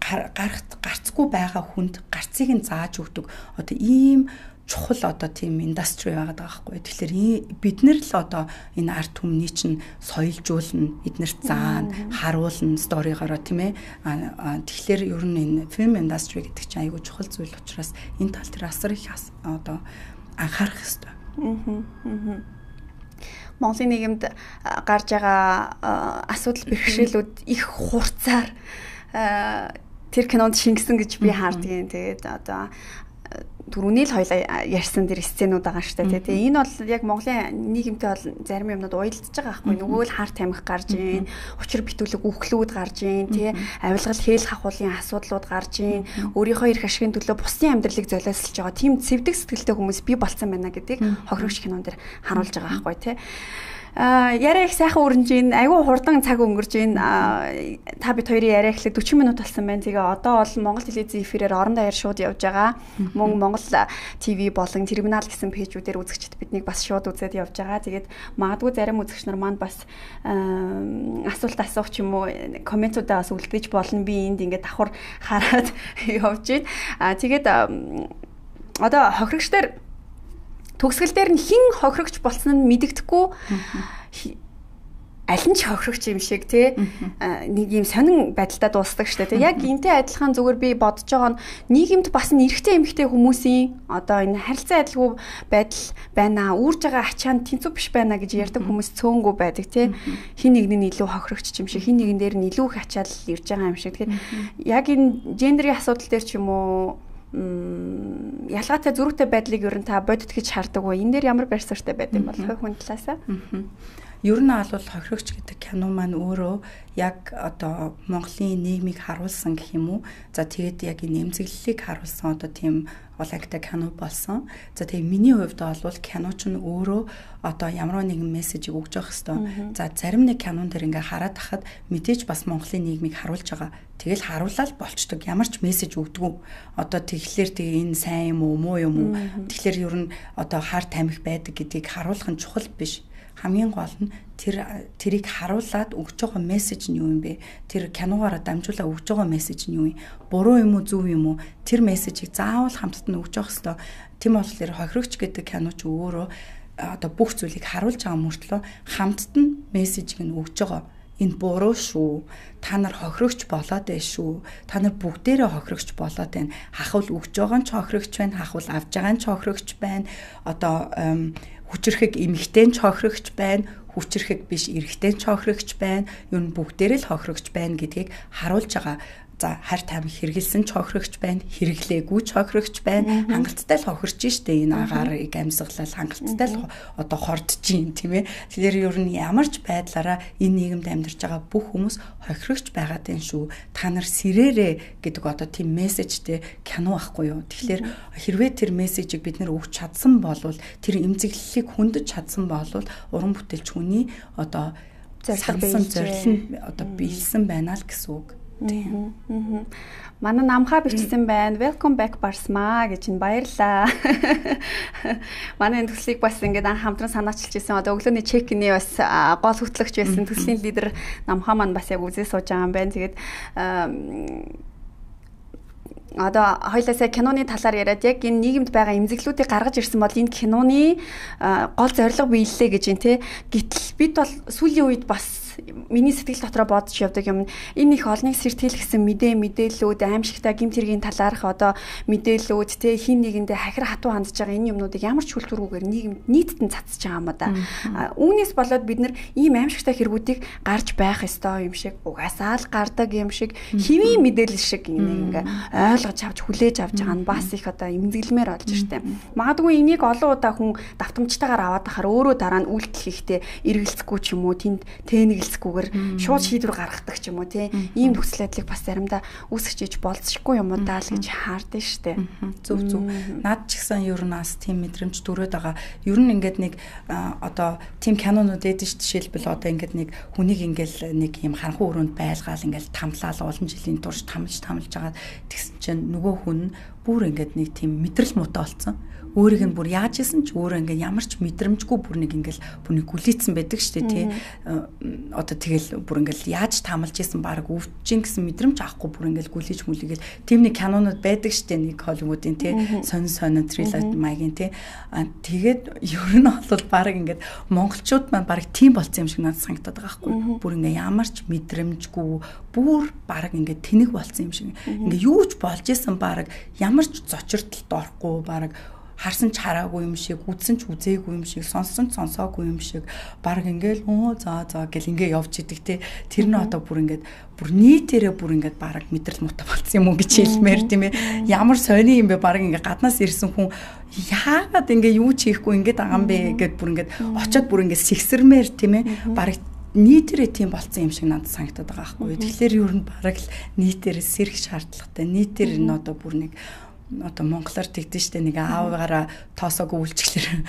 гарцгүй байгаа хүнд гарцыг нь зааж өгдөг. Одоо ийм чухал одоо тийм индастри байгаад байгаа байхгүй. Тэгэхээр бид нар л одоо энэ арт түмний чинь соёлжуулна, эднэрт заана, харуулна сторигоороо тийм ээ. Тэгэхээр ер нь энэ фильм индастри гэдэг чинь айгүй чухал зүйл учраас энэ тал дээр асар их одоо анхаарах хэрэгтэй. Монголын нийгэмд гарч байгаа асуудал бэрхшээлүүд их хурцаар тэр кинонд шингэсэн гэж би хаардгийн. Тэгээд одоо түрүүний л хоёлаа ярьсан дэр сценүүд байгаа шүү дээ. Тэгээ энэ бол яг Монголын нийгэмтэй бол зарим юмнууд уялдаж байгаа байхгүй. Нөгөө л хар тамхи гарж ийн, учир битүүлэг үхлүүд гарж ийн, тий авилгал хээл хахуулын асуудлууд гарж ийн, өөрийнхөө эрх ашигын төлөө бусдын амьдралыг золиослж байгаа тийм цэвдэг сэтгэлтэй хүмүүс бий болсон байна гэдгийг хохирогч кинон дээр харуулж байгаа байхгүй тий. Яриа их сайхан өрнж ийн, айгүй хурдан цаг өнгөрж ийн. Та бид хоёрын яриа эхлэх 40 минут болсон байна. Тэгээ одоо бол Монгол телевизийн эфирээр орон даяар шууд явж байгаа. Мөн Монгол ТV болон терминал гэсэн пэйжүүдээр үзэгчд биднийг бас шууд үзээд явж байгаа. Тэгээд магадгүй зарим үзэгч нар маань бас асуулт асуух ч юм уу комментуудаа бас үлдээж болно. Би энд ингээд давхар хараад явж байна. Тэгээд одоо хохирогчдэр төгсгөл дээр нь хэн хохирогч болсон нь мэдэгдэхгүй аль нь ч хохирогч юм шиг тий нэг юм сонин байдалтай дуусдаг шүү дээ. Яг энтэй адилхан зүгээр би бодож байгаа нь нийгэмд бас эрэгтэй эмэгтэй хүмүүсийн одоо энэ харилцан адилгүй байдал байна. Үүрж байгаа ачаанд тэнцүү биш байна гэж ярьдаг хүмүүс цөөнгөө байдаг тий. Хин нэг нь илүү хохирогч юм шиг, хин нэгэн дээр нь илүү их ачаал ирж байгаа юм шиг. Тэгэхээр яг энэ гендерийн асуудал дээр ч юм уу ялгаатай зөрүүтэй байдлыг ер нь та бодит гэж шаарддаг уу? Энэ дээр ямар барь суурьтай байд юм бол хүн талаасаа? Ер нь бол хохирогч гэдэг кино маань өөрөө яг одоо Монголын нийгмийг харуулсан гэх юм уу. За тэгээд яг энэ эмзэглэлийг харуулсан одоо тийм гол кино болсон. За тэгээд миний хувьд бол киноч нь өөрөө одоо ямар нэгэн мессежийг өгж явах хэвээр. За зарим нэг кинон дээр ингээ хараад тахад мэдээж бас Монголын нийгмийг харуулж байгаа. Тэгэл харуулаад болчдөг. Ямар ч мессеж өгдөггүй. Одоо тэгэхээр тэгээ энэ сайн юм уу, муу юм уу? Тэгэхээр ер нь одоо хар тамхи байдаг гэдгийг харуулах нь чухал биш. Хамгийн гол нь тэрийг харуулад өгж байгаа мессеж нь юу юм бэ? Тэр киногоор дамжуулаад өгж байгаа мессеж нь юу юм? Буруу юм уу, зөв юм уу? Тэр мессежийг заавал хамтд нь өгж явах хэрэгтэй. Тийм болохоор хохирогч гэдэг киноч өөрөө одоо бүх зүйлийг харуулж байгаа мөртлөө хамтд нь мессежийг нь өгж байгаа. Энэ буруу шүү. Та нар хохирогч болоод байна шүү. Та нар бүгдээрээ хохирогч болоод байна. Хахвал өгж байгаа нь ч хохирогч байна, хахвал авж байгаа нь ч хохирогч байна. Одоо хүчрэхэг эмэгтэй нь ч хохирогч байна. Хүчрэхэг биш эрэгтэй нь ч хохирогч байна. Юу н бүгдээрээ л хохирогч байна гэдгийг харуулж байгаа. За хар тамхи хэрэгэлсэн ч хохирогч байна, хэрэглээгүй ч хохирогч байна. Хангалттай л хохирч штэ энэ агаарыг амьсгалал хангалттай л одоо хордож юм тийм ээ. Тэгэхээр ер нь ямар ч байдлаараа энэ нийгэмд амьдарч байгаа бүх хүмүүс хохирогч байгаад байна шүү. Та нар сэрээрээ гэдэг одоо тийм мессежтэй кино ахгүй юу. Тэгэхээр хэрвээ тэр мессежийг бид нэр өгч чадсан болвол тэр эмзэглэлийг хөндөж чадсан болвол уран бүтээлч хүний одоо зорилго одоо биелсэн байна л гэсэн үг. Манай намхаа бичсэн байна. Welcome back Барсмаа гэж нь баярлаа. Манай энэ төслийг бас ингээд анх хамтран санаачилж ирсэн. Одоо өглөөний чекний бас гол хөтлөгч байсан төслийн лидер намхаа маань бас яг үзээ сууж байгаа юм байна. Тэгээд одоо хоёлаасаа киноны талаар яриад яг энэ нийгэмд байгаа эмзэглүүдийг гаргаж ирсэн бол энэ киноны гол зорилго биелэлээ гэж юм те. Гэтэл бид бол сүүлийн үед бас миний сэтгэл дотроо бодож явдаг юм. Энэ их олныг сэртэлгсэн мэдээллүүд, аимшигтай гэмт хэргийн талаарх одоо мэдээллүүд те хин нэгэндээ хахир хатуу хандж байгаа энэ юмнуудыг ямар ч хүлтүргүүгээр нийгэмд нийтдэн цацж байгаа юм да. Үүнээс болоод бид нар ийм аимшигтай хэрэгүүдийг гарч байх ёстой юм шиг угаасаа л гардаг юм шиг хэвийн мэдээлэл шиг ингээ ойлгож авч хүлээж авч байгаа нь бас их одоо эмзэглэмээр болж штэ. Магадгүй энийг олон удаа хүн давтамжтайгаар аваад ахаар өөрөө дараа нь үйлдэл хийхдээ эргэлзэхгүй ч юм уу тэнд тэнэглэцгүйгээр шууд шийдвэр гаргадаг ч юм уу тий. Ийм нөхцөл байдлыг бас заримдаа үүсгэж болцсохгүй юм уу даа л гэж хаардсан штэ. Зөв. Наад ч гэсэн ер нь бас тийм мэдрэмж төрөөд байгаа. Ер нь ингээд нэг одоо тийм кинонууд эдэж жишээлбэл одоо ингээд нэг хүнийг ингээл нэг юм харанхуй өрөөнд байлгаал ингээл тамлаал олон жилийн турш тамлж байгаа тэгсэн чинь нөгөө хүн бүр ингээд нэг тийм мэдрэл муутай болсон. Өөрийг нь бүр яаж исэн ч өөрөө ингээд ямар ч мэдрэмжгүй бүр нэг гүлийцсэн байдаг шүү дээ тий. Одоо тэгэл бүр ингээд яаж таамалж исэн баг өвчин гэсэн мэдрэмж авахгүй бүр ингээд гүлийж мүлийгээл тийм нэг кинонууд байдаг шүү дээ нэг Холливуудын тий. Сонин трилоги маягийн тий. Тэгээд ер нь бол баг ингээд монголчууд маань баг тийм болцсон юм шиг надад санагдаад байгаа байхгүй. Бүр ингээд ямар ч мэдрэмжгүй бүр баг ингээд тэнэг болцсон юм шиг. Ингээд юу ч болж исэн баг ямар ч зочиртолд орохгүй баг харсан ч хараагүй юм шиг, үзсэн ч үзээгүй юм шиг, сонссон ч сонсоогүй юм шиг баг ингээл за гэл ингээ явж идэг те. Тэр нь одоо бүр ингээд бүр нийтээрээ бүр ингээд баг мэдрэл муутай болсон юм уу гэж хэлмээр тийм ээ. Ямар сони юм бэ баг ингээ гаднаас ирсэн хүн яагаад ингээ юу ч хийхгүй ингээд байгаа юм бэ гэд бүр ингээд очиод бүр ингээд сэгсэрмээр тийм ээ. Баг нийтээрээ тийм болцсон юм шиг надад санагдаад байгаа байхгүй. Тэгэхээр ер нь баг л нийтээрээ сэрэх шаардлагатай. Нийтээр нь одоо бүр нэг одоо монголоор тэгдэж штэ нэг аавгаараа тоосоогүй үйлчлэр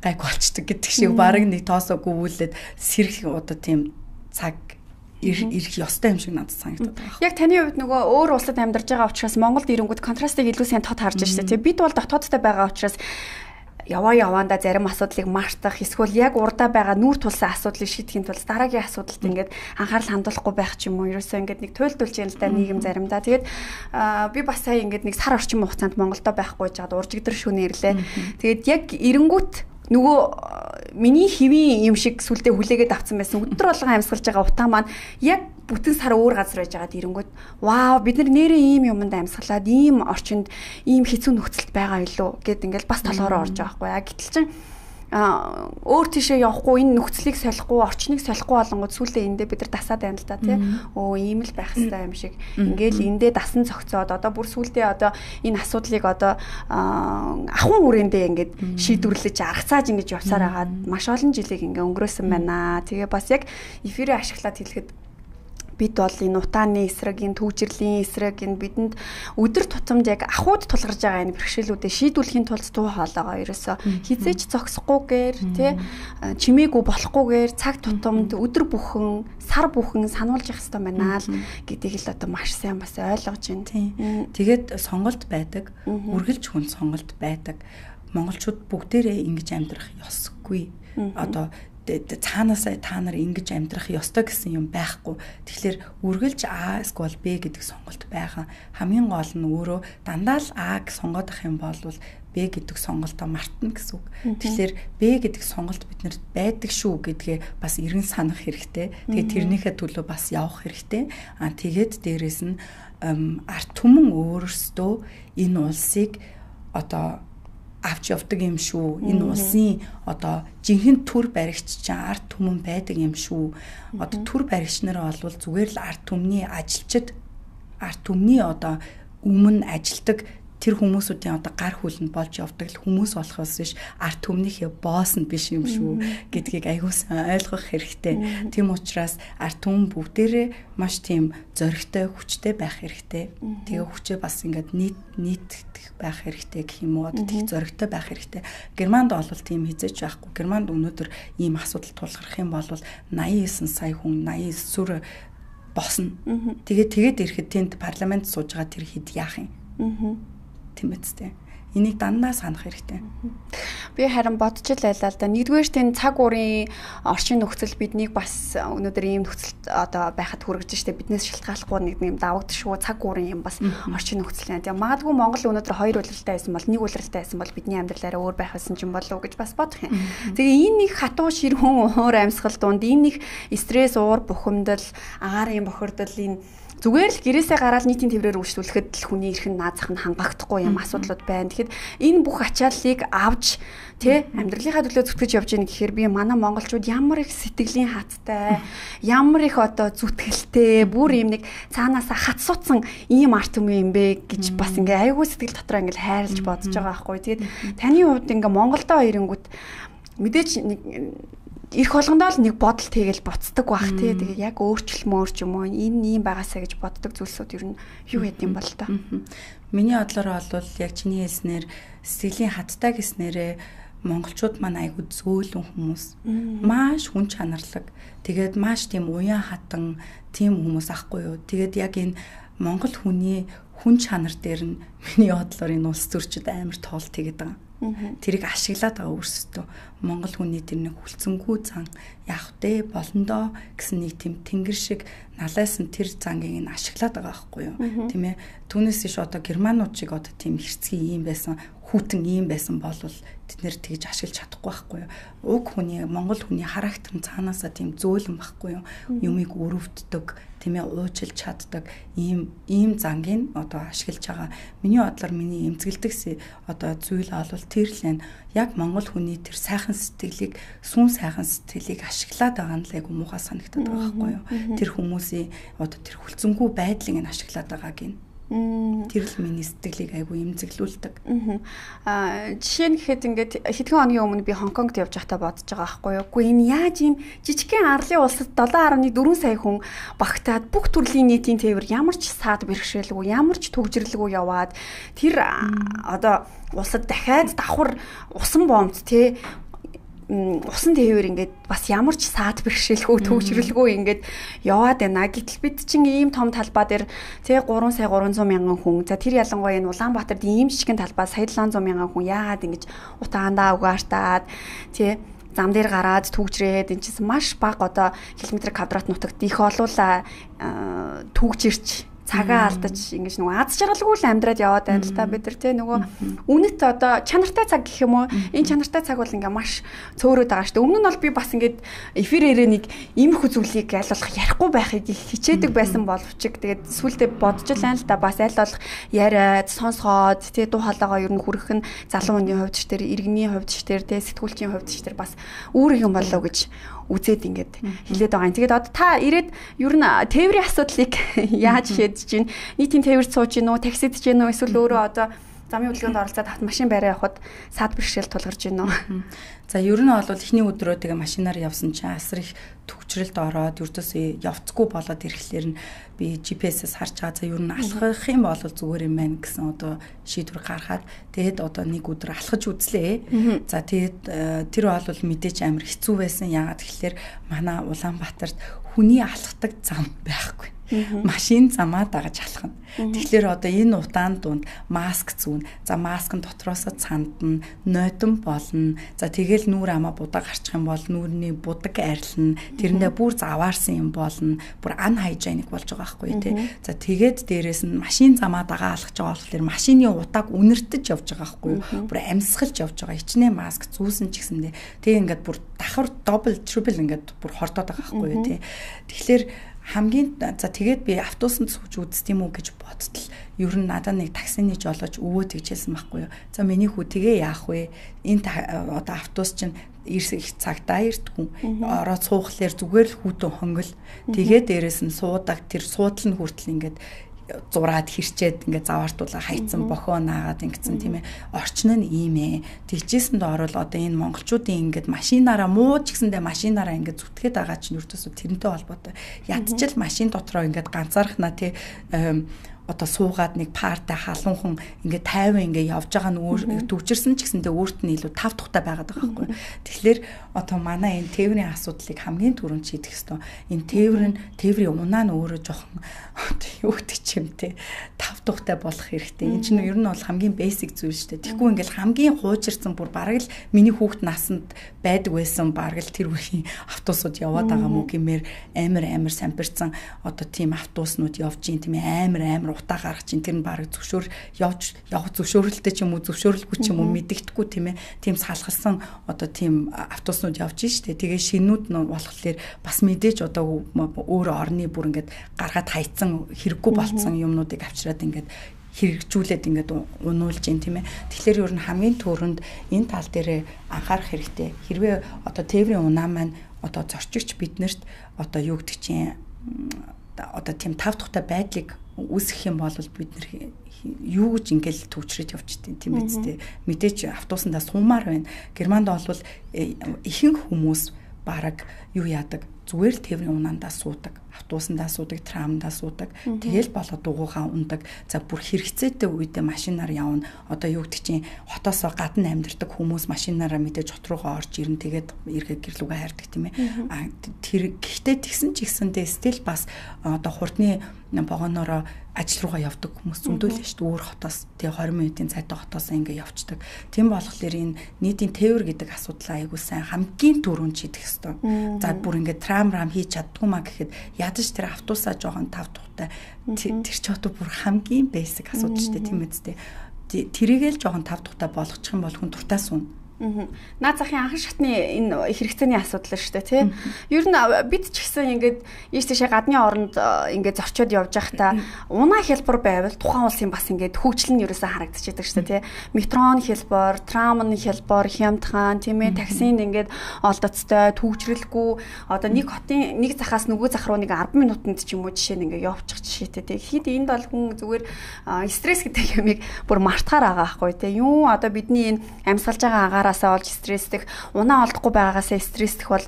гайг болчдөг гэдэг шиг баг нэг тоосоогүй үйлээд сэрэх одоо тийм цаг ирэх ёстой юм шиг надад санагдаад байна. Яг таны хувьд нөгөө өөр улсад амьдарч байгаа учраас Монголд ирэнгүүт контрастыг илүү сайн тод харж штэ. Тэг бид бол дотоодтой байгаа учраас яваанда зарим асуудлыг мартах эсвэл яг урдаа байгаа нүүр тулсан асуудлыг шийдэхин тулд дараагийн асуудалд ингээд анхаарал хандуулахгүй байх ч юм уу. Ерөөсөө ингээд нэг туйлдуулж яана л да нийгэм заримдаа. Тэгээд би бас сая ингээд нэг сар орчим хугацаанд Монголдо байхгүй жаад уржигдэр шөнө ирлээ. Тэгээд яг эренгүүт нөгөө миний хэвийн юм шиг сүлдээ хүлээгээд авсан байсан өдөр болгон амьсгалж байгаа утаа маань яг бүтэн сар өөр газар байж байгаад ирэнгүүт вау бид нар нэрээ ийм юмд амьсгалаад ийм орчинд ийм хэцүү нөхцөлд байгаа юу гэд ингээл бас толгоороо орж байгаа байхгүй. Гэтэл чин өөр тийшээ явахгүй энэ нөхцөлийг солихгүй орчныг солихгүй болонгод сүүлдээ эндээ бид нар дасаад байна л да тий. Ийм л байх хэрэгтэй юм шиг. Ингээл эндээ дасан цогцоод одоо бүр сүүлдээ одоо энэ асуудлыг одоо ахуйн хүрээндээ ингээд шийдвэрлэж аргацааж ингэж явсаар хагаад маш олон жилийг ингээ өнгөрөөсөн байна. Тэгээ бас яг эфирээ ашиглаад хэлэхэд бид бол энэ утааны эсрэг, энэ түүжирлийн эсрэг, энэ бидэнд өдөр тутамд яг ахуйд тулгарч байгаа энэ бэрхшээлүүдэд шийдвэрлэхийн тулд туу хоолойгоо ерөөсө хизээч зогсохгүйгээр тий чимээгүй болохгүйгээр цаг тутамд өдөр бүхэн, сар бүхэн сануулж явах хэрэгтэй байна л гэдгийг л одоо маш сайн бас ойлгож байна. Тэгээд сонголт байдаг, үргэлж хүн сонголт байдаг. Монголчууд бүгдээрээ ингэж амьдрах ёсгүй. Одоо цаанаасаа та нар ингэж амьдрах ёстой гэсэн юм байхгүй. Тэгэхээр үргэлж А эсвэл Б гэдэг сонголт байгаа. Хамгийн гол нь өөрөө дандаа л А-г сонгоод ах юм бол Б гэдэг сонголтоо мартна гэсэн үг. Тэгэхээр Б гэдэг сонголт биднэрт байдаг шүү гэдгээ бас эргэн санах хэрэгтэй. Тэгээд тэрнийхээ төлөө бас явах хэрэгтэй. Тэгээд дээрэс нь арт түмэн өөрөөсөө энэ улсыг одоо авч явдаг юм шүү. Энэ улсын одоо жинхэнэ төр баригч чинь арт түмэн байдаг юм шүү. Одоо төр баригч нараа бол зүгээр л арт түмний ажилчид, арт түмний одоо өмнө ажилдаг тэр хүмүүсүүдийн одоо гар хүлэнд болж явдаг л хүмүүс болохоос биш арт түмнийхээ босс нь биш юм шүү гэдгийг аягуулсан ойлгох хэрэгтэй. Тийм учраас арт түмэн бүгдээрээ маш тийм зоригтой, хүчтэй байх хэрэгтэй. Тэгээ хүчээ бас ингээд нийтдэх байх хэрэгтэй гэх юм уу? Одоо тийм зоригтой байх хэрэгтэй. Германд бол тийм хизээч байхгүй. Германд өнөөдөр ийм асуудал тулгарх юм бол 89 сая хүн 89 сүр босно. Тэгээд ирэхэд тэнд парламент сууж байгаа тэр хэд яах юм? Тийм үстэй. Энийг дандаа санах хэрэгтэй. Би харин бодож л байлаа л да. Нэгдүгээр тийм цаг уурын орчин нөхцөл биднийг бас өнөөдөр ийм нөхцөлд одоо байхад хүргэж штэ биднээс шалтгааллахгүй нэг юм давагдшгүй цаг уурын юм бас орчин нөхцөл юм. Тэгээ магадгүй Монгол өнөөдөр хоёр улиралтай байсан бол нэг улиралтай байсан бол бидний амьдралаараа өөр байх байсан ч юм болов уу гэж бас бодох юм. Тэгээ энэ нэг хатуу ширхүүн уур амьсгал дунд энэ нэг стресс, уур бухимдал, агаарын бохирдол энэ зүгээр л гэрээсээ гараад нийтийн тэмрээр үйлчлүүлэхэд л хүний эрхэн наазах нь хангахдахгүй юм асуудлууд байна. Тэгэхэд энэ бүх ачааллыг авч тэ амьдралынхаа төлөө зүтгэж явж гин гэхээр би манай монголчууд ямар их сэтгэлийн хаттай, ямар их одоо зүтгэлтэй, бүр юм нэг цаанаасаа хат суцсан ийм арт түмэн юм бэ гэж бас ингээ айгүй сэтгэл дотроо ингээ хайрлж бодож байгаа байхгүй. Тэгээд таны хувьд ингээ Монголдоо ирэнгүүт мэдээч нэг ирэх болгондоо л нэг бодол тэгэл буцдаг бах тий. Тэгээ яг өөрчлөлмөр ч юм уу энэ ийм байгаасаа гэж боддог зүйлсүүд ер нь юу гэдэг юм бол та. Миний бодлоор бол яг чиний хэлснээр сэтгэлийн хаттай гэснээрээ монголчууд маань айгүй зөөлөн хүмүүс. Маш хүн чанарлаг. Тэгээд маш тийм уян хатан тийм хүмүүс ахгүй юу. Тэгээд яг энэ монгол хүний хүн чанар дээр нь миний бодлоор энэ улс төрчид амар тоолт хийгээд байгаа. Тэрийг ашиглаад байгаа өөрсдөө монгол хүний тэр нэг хүлцэнгүй зан яах вэ болондоо гэсэн нэг тийм тэнгэр шиг налайсан тэр зангийг нь ашиглаад байгаа байхгүй юу тийм ээ түүнээс иш одоо германууд шиг одоо тийм хэрцгий юм байсан хүүтэн ийм байсан бол тэд нэр тэгж ашиглаж чадахгүй байхгүй юу уг хүний монгол хүний характер нь цаанаасаа тийм зөөлөн байхгүй юу юмыг өрөвддөг тийм ээ уучлж чаддаг ийм зангийг одоо ашиглаж байгаа миний бодлоор миний эмзэгэлдэг одоо зүйл бол тэр л яг монгол хүний тэр сайхан сэтгэлийг сүн сайхан сэтгэлийг ашиглаад байгаа нь л айгу муухай санагдаад байгаа байхгүй юу тэр хүмүүсийн одоо тэр хүлцэнгүй байдлыг нь ашиглаад байгааг нь тэр л миний сэтгэлийг айгу эмзэглүүлдэг. Жишээ нь гэхэд ингээд хэдхэн хоногийн өмнө би Хонконгт явж байхдаа бодож байгаа байхгүй юу. Үгүй энэ яаж ийм жижигхэн арлын улсад 7.4 сая хүн багтаад бүх төрлийн нийтийн тээвэр ямар ч саад бэрхшээлгүй, ямар ч төгжрлгүй яваад тэр одоо улсад дахиад давхар усан бомбт тий усан тээвэр ингээд бас ямар ч саад бэрхшээлгүй төгжрөлгүй ингээд яваад байна. Гэтэл бид чинь ийм том талбай дээр тий 3 сая 300 мянган хүн. За тэр ялангуяа энэ Улаанбаатарт ийм жижигхэн талбай сая 700 мянган хүн яагаад ингэж утаандаа угаартаад тий зам дээр гараад түгжрээд энэ чинь маш бага одоо километр квадрат нутагт их олуула түгжирч цагаа алдаж ингэж нөгөө аз жаргалгүй л амьдраад яваад байна л та бид нар тий нөгөө үнэт одоо чанартай цаг гэх юм уу энэ чанартай цаг бол ингээ маш цөөрөд байгаа шүү дээ. Өмнө нь бол би бас ингээд эфирээрээ нэг иймэрхүү зүйлийг аль болох ярихгүй байхыг хичээдэг байсан боловч тэгээд сүултээ бодож л байна л да бас аль болох яриад сонсгоод тий дуу хоолойгоо ер нь хүрэх нь залуу хүний хувьд ч тэр иргэний хувьд ч тэр тий сэтгүүлчийн хувьд ч тэр бас үүрэг юм болоо гэж үзээд ингээд хэлээд байгаа юм. Тэгээд одоо та ирээд ер нь тээврийн асуудлыг яаж шийдэж чинь нийтийн тээвэрт сууж гинөө, таксид ч гинөө эсвэл өөрөө одоо замын хөдөлгөөнд оролцоод автомашин барай явахад саад бэрхшээл тулгарч гинөө. За ер нь бол эхний өдрөө тэгээ машинаар явсан чинь асар их төвчрэлд ороод ердөөсөө явцгүй болоод ирэхлээр нь би GPS-ээс харж байгаа. За ер нь алхах юм бол зүгээр юм байна гэсэн одоо шийдвэр гаргаад тэгээд одоо нэг өдөр алхаж үзлээ. За тэгээд тэр бол мэдээж амар хэцүү байсан. Яагаад гэвэл манай Улаанбаатарт хүний алхдаг зам байхгүй. Машин замаа дагаж алхана. Тэгэхээр одоо энэ утаан дунд маск зүүн. За маск нь дотроосоо цандна, нойтон болно. За тэгэл нүүр амаа будаа гарчих юм бол нүүрний будаг арилна. Тэрэндээ бүр заваарсан юм болно. Бүр unhygienic болж байгаа байхгүй тий. За тэгээд дээрэс нь машин замаа дагаа алхаж байгаа болохоор машины утааг үнэртэж явж байгаа байхгүй юу. Бүр амьсгалж явж байгаа. Хичнээн маск зүүсэн ч гэсэндээ тэг ингээд бүр давхар double triple ингээд бүр хордоод байгаа байхгүй юу тий. Тэгэхээр хамгийн за тэгээд би автобусанд сууж үзт юм уу гэж бодтол ер нь надад нэг таксины жолооч өвөө тэгжсэн байхгүй юу. За миний хүү тэгээ яах вэ? Энэ одоо автобус чинь их цагтаа ирдэггүй. Ороод суухлаар зүгээр л хүүтэн хонгол. Тэгээд дээрэс нь суудаг тэр суудал нь хүртэл ингээд зураад хэрчээд ингээд заваартуулаа хайцсан бохоо наагаад ингэсэн тийм ээ. Орчин нь ийм ээ. Тэгжсэнд орвол одоо энэ монголчуудын ингээд машинаараа мууж гэсэндээ машинаараа ингээд зүтгээд байгаа чинь өртөөсөө тэрнтэй холбоотой. Ядчил машин дотроо ингээд ганцаархнаа тий одоо суугаад нэг партай халуунхан ингээд 50 ингээд явж байгаа нь төвчөрсөн ч гэсэндээ өөрт нь илүү тав тухтай байгаад байгаа байхгүй. Тэгэхээр одоо манай энэ тээврийн асуудлыг хамгийн түрүүнд шийдэх ёстой. Энэ тээврийн унаа нь өөрөө жоохон юу гэдэг юм те тав тухтай болох хэрэгтэй. Энэ чинь ер нь бол хамгийн basic зүйл шүү дээ. Тэгэхгүй ингээд хамгийн хуучирсан бүр бараг л миний хүүхэд насанд байдаг байсан бараг л тэр үеийн автобусууд яваад байгаа мүү гэмээр амар самбирцсан одоо тийм автобуснууд явж ийн тийм амар утаа гаргаж чинь тэр нь баг зөвшөөр явж явах зөвшөөрөлтэй ч юм уу зөвшөөрөлгүй ч юм уу мэдэгдэхгүй тийм ээ тийм салхалсан одоо тийм автобуснууд явж штэ тэгээ шинүүд нь болохоор бас мэдээж одоо өөр орны бүр ингээд гаргаад хайцсан хэрэггүй болцсон юмнуудыг авчираад ингээд хэрэгжүүлээд ингээд унуулж ин тийм ээ тэгэхээр ер нь хамгийн түрүүнд энэ тал дээр анхаарах хэрэгтэй хэрвээ одоо тээврийн унаа маань одоо зорчигч биднэрт одоо юу гэдэг чинь одоо тийм тав тухтай байдлыг үүсгэх юм бол бид нэр юу гэж ингээл төвчрэж явчихдیں۔ Тийм биз дээ. Мэдээж автобусандаа суумаар байна. Германд бол ихэнх хүмүүс бараг юу яадаг зүгээр л тээврийн унаандаа суудаг. Автобусандаа суудаг, трамдаа суудаг. Тэгэл болоо дугуйгаа ундаг. За бүр хэрэгцээтэй үедээ машинаар явна. Одоо юу гэдэг чинь хотоосоо гадна амьдардаг хүмүүс машинаараа мэдээж хот руугаа орж ирнэ. Тэгээд эргээ гэрлүүгээ хайрдаг тийм ээ. Тэр гэхдээ тэгсэн ч ихсэндээ стил бас одоо хурдны богоноороо ажил руугаа явдаг хүмүүс зөндөл шүү дээ. Өөр хотоос тэгээ 20 минутын цайтай хотоос ингээ явцдаг. Тийм болохоор энэ нийтийн тээвэр гэдэг асуудлаа айгуу сайн хамгийн түрүүнд шийдэх ёстой. За бүр ингээ трам хийж чаддгүй маа гэхэд ядаж тэр автобусаа жоохон тав тухтай тэр ч одоо бүр хамгийн basic асуудал шүү дээ тийм үстэй. Тэрийгэл жоохон тав тухтай болгочих юм бол хүн дуртай суун. Наад захын анхан шатны энэ хэрэгцээний асуудал шүү дээ тий. Ер нь бид ч гэсэн ингээд ийш тийшээ гадны оронд ингээд зорчоод явж байхдаа унаа хялбар байвал тухайн улсын бас ингээд хөгжил нь ерөөсөө харагдчихдаг шүү дээ тий. Метрон хялбар, трамны хялбар, хямдхан тийм ээ таксинд ингээд олдоцтой төвчрэлгүй одоо нэг хотын нэг захаас нөгөө зах руу нэг 10 минутанд ч юм уу жишээ нь ингээд явчих жишээтэй тий. Хэд энд бол хүн зүгээр стресс гэдэг юмыг бүр мартахаар байгаа байхгүй тий. Юу одоо бидний энэ амьсгалж байгаа агараасаа олж стрессдэх, унаа олдохгүй байгаагаасаа стрессдэх бол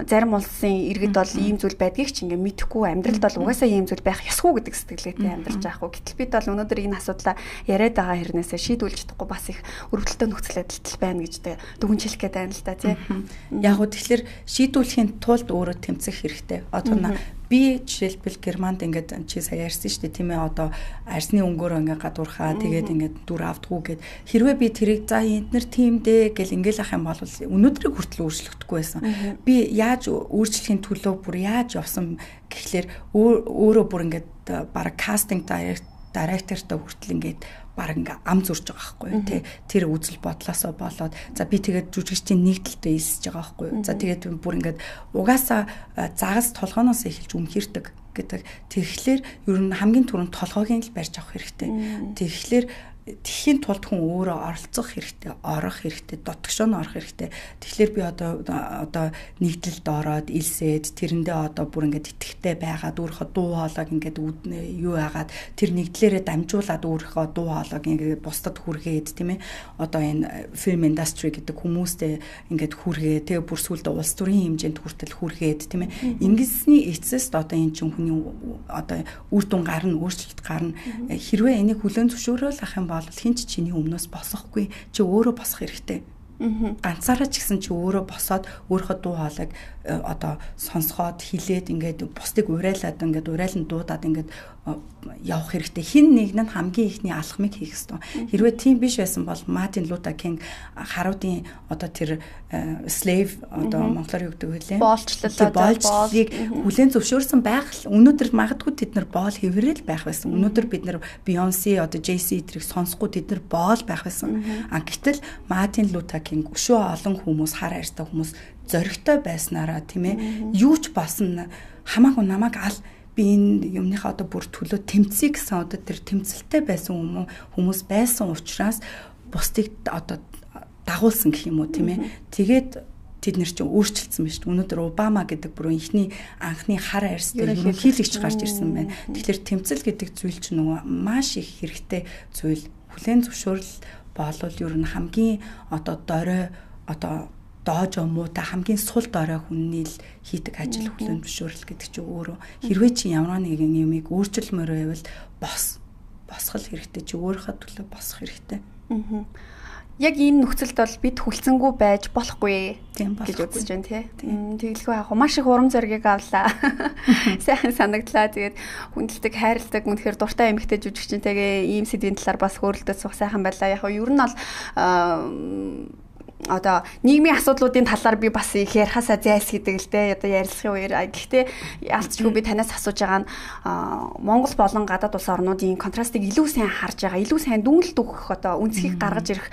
зарим улсын иргэд бол ийм зүйл байдгийг ч ингээ мэдэхгүй амьдралд бол угаасаа ийм зүйл байх ёсгүй гэдэг сэтгэлгээтэй амьдарч байгаа хгүй. Гэтэл бид бол өнөөдөр энэ асуудлаа яриад байгаа хэрнээсээ шийдвүүлж чадахгүй бас их өрөвдөлтөй нөхцөл байдалтай байна гэж дүгнжүүлэх гээд байна л да тий. Яг уу тэгэхээр шийдвүүлэхийн тулд өөрөө тэмцэх хэрэгтэй. Одоо би жишээлбэл Германд ингээд чи сая ярьсан шүү дээ тийм ээ одоо арсны өнгөөрөө ингээд гадуурхаа тэгээд ингээд дүр автгүй гэд хэрвээ би тэрийг за эднэр тиймдээ гэл ингээд ах юм бол өнөөдрийг хүртэл өөрчлөгдөхгүй байсан. Би яаж өөрчлөхийн төлөө бүр яаж явсан гэхлээр өөрөө бүр ингээд бараг кастинг директортой хүртэл ингээд бараг ингээ ам зурж байгаа байхгүй тий тэр үзэл бодлосоо болоод за би тэгээд жүжигчдийн нэгдэлтэй хэлсэж байгаа байхгүй за тэгээд бүр ингээд угаасаа загас толгооноос эхэлж өмхирдэг гэдэг тэгэхээр ер нь хамгийн түрүүнд толгойг л барьж авах хэрэгтэй тэгэхээр тэхийн тулд хүн өөрөө оролцох хэрэгтэй, орох хэрэгтэй, дотгошоо нь орох хэрэгтэй. Тэгэхээр би одоо нэгдэлд ороод илсээд тэрэндээ одоо бүр ингээд итгэвтэй байгаад өөрийнхөө дуу хоолойг ингээд юу яагаад тэр нэгдлэрээ дамжуулаад өөрийнхөө дуу хоолойг ингээд бусдад хүргээд тийм ээ. Одоо энэ film industry гэдэг хүмүүстэй ингээд хүргээ. Тэгээ бүр сүлдө улс төрийн хэмжээнд хүртэл хүргээд тийм ээ. Ингэсний эцэст одоо энэ чинь хүний одоо үр дүн гарна, өөрчлөлт гарна. Хэрвээ энийг хүлээн зөвшөөрөөл ах юм бол хинч чиний өмнөөс босохгүй чи өөрөө босох хэрэгтэй. Ганцаараа ч гэсэн чи өөрөө босоод өөрийнхөө дуу хоолойг одоо сонсгоод хилээд ингээд бусдыг урайлаад ингээд урайлан дуудаад ингээд явах хэрэгтэй. Хин нэг нь хамгийн ихний алхмыг хийх ёстой. Хэрвээ тийм биш байсан бол Мартин Лютер Кинг харуудын одоо тэр slave одоо монголоор юу гэдэг вэ? Боолчлыг хүлээн зөвшөөрсөн байх л өнөөдөр магадгүй тэд нар боол хэврээл байх байсан. Өнөөдөр бид нар Beyoncé одоо Jay-Z тэрийг сонсохгүй тэд нар боол байх байсан. Гэтэл Мартин Лютер Кинг өшөө олон хүмүүс хар хайртай хүмүүс зоригтой байснараа тийм ээ юу ч болсон хамаагүй намайг ал би энэ юмныхаа одоо бүр төлөө тэмцэе гэсэн одоо тэр тэмцэлтэй байсан хүмүүс байсан учраас бусдыг одоо дагуулсан гэх юм уу тийм ээ тэгээд тэд нар чинь өөрчлөлтсөн байна шүү дээ. Өнөөдөр Обама гэдэг бүрэн ихний анхны хар арьстай ерөнхийлөгч гарч ирсэн байна. Тэгэхээр тэмцэл гэдэг зүйл чинь нөгөө маш их хэрэгтэй зүйл. Хүлээн зөвшөөрөл болвол ер нь хамгийн одоо дорой одоо доожо муутай хамгийн сул дорой хүнний л хийдэг ажил хүлээн зөвшөөрөл гэдэг чинь өөрөө хэрвээ чи ямар нэгэн юмыг өөрчлөлмөр байвал босгол хэрэгтэй чи өөрийнхөө төлөө босох хэрэгтэй. Яг энэ нөхцөлд бол бид хүлцэнгүй байж болохгүй гэж үзэж байна тийм. Тэгэлгүй яг маш их урам зориг авлаа. Сайхан санагдлаа. Тэгээд хүндэлдэг, хайрладаг, үнэхээр дуртай эмэгтэй жүжигчнтэйгээ ийм сэдвийн талаар бас хөөрөлдөж суух сайхан байлаа. Яг нь ер нь бол одоо нийгмийн асуудлуудын талаар би бас их ярихасаа зайлсхийдэг л дээ. Одоо ярилцахын үеэр гэхдээ ялцчгүй би танаас асууж байгаа нь Монгол болон гадаад улс орнуудын контрастыг илүү сайн харж байгаа, илүү сайн дүнэлт өгөх одоо үнцгийг гаргаж ирэх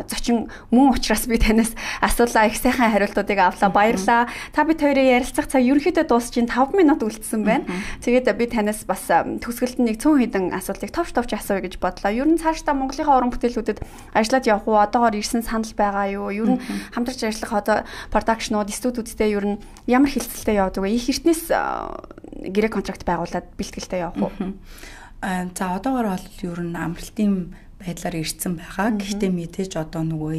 зочин мөн учраас би танаас асуулаа их сайхан хариултуудыг авлаа. Баярлалаа. Та бид хоёрын ярилцах цаг ерөнхийдөө дуусчихин 5 минут үлдсэн байна. Тэгээд би танаас бас төгсгөлд нэг 100 хэдэн асуултыг товч асууя гэж бодлоо. Ер нь цаашдаа Монголынхаа уран бүтээлүүдэд ажиллаад явах уу? Одоогоор ирсэн санал байгаа юу? Ер нь хамтарч ажиллах одоо продакшнууд, студиудтэй ер нь ямар хилцэлтэй явдаг вэ? Их эртнээс гэрээ контракт байгуулад бэлтгэлтэй явах уу? За одоогоор бол ер нь амралтын байдлаар ирсэн байгаа. Гэхдээ мэдээж одоо нөгөө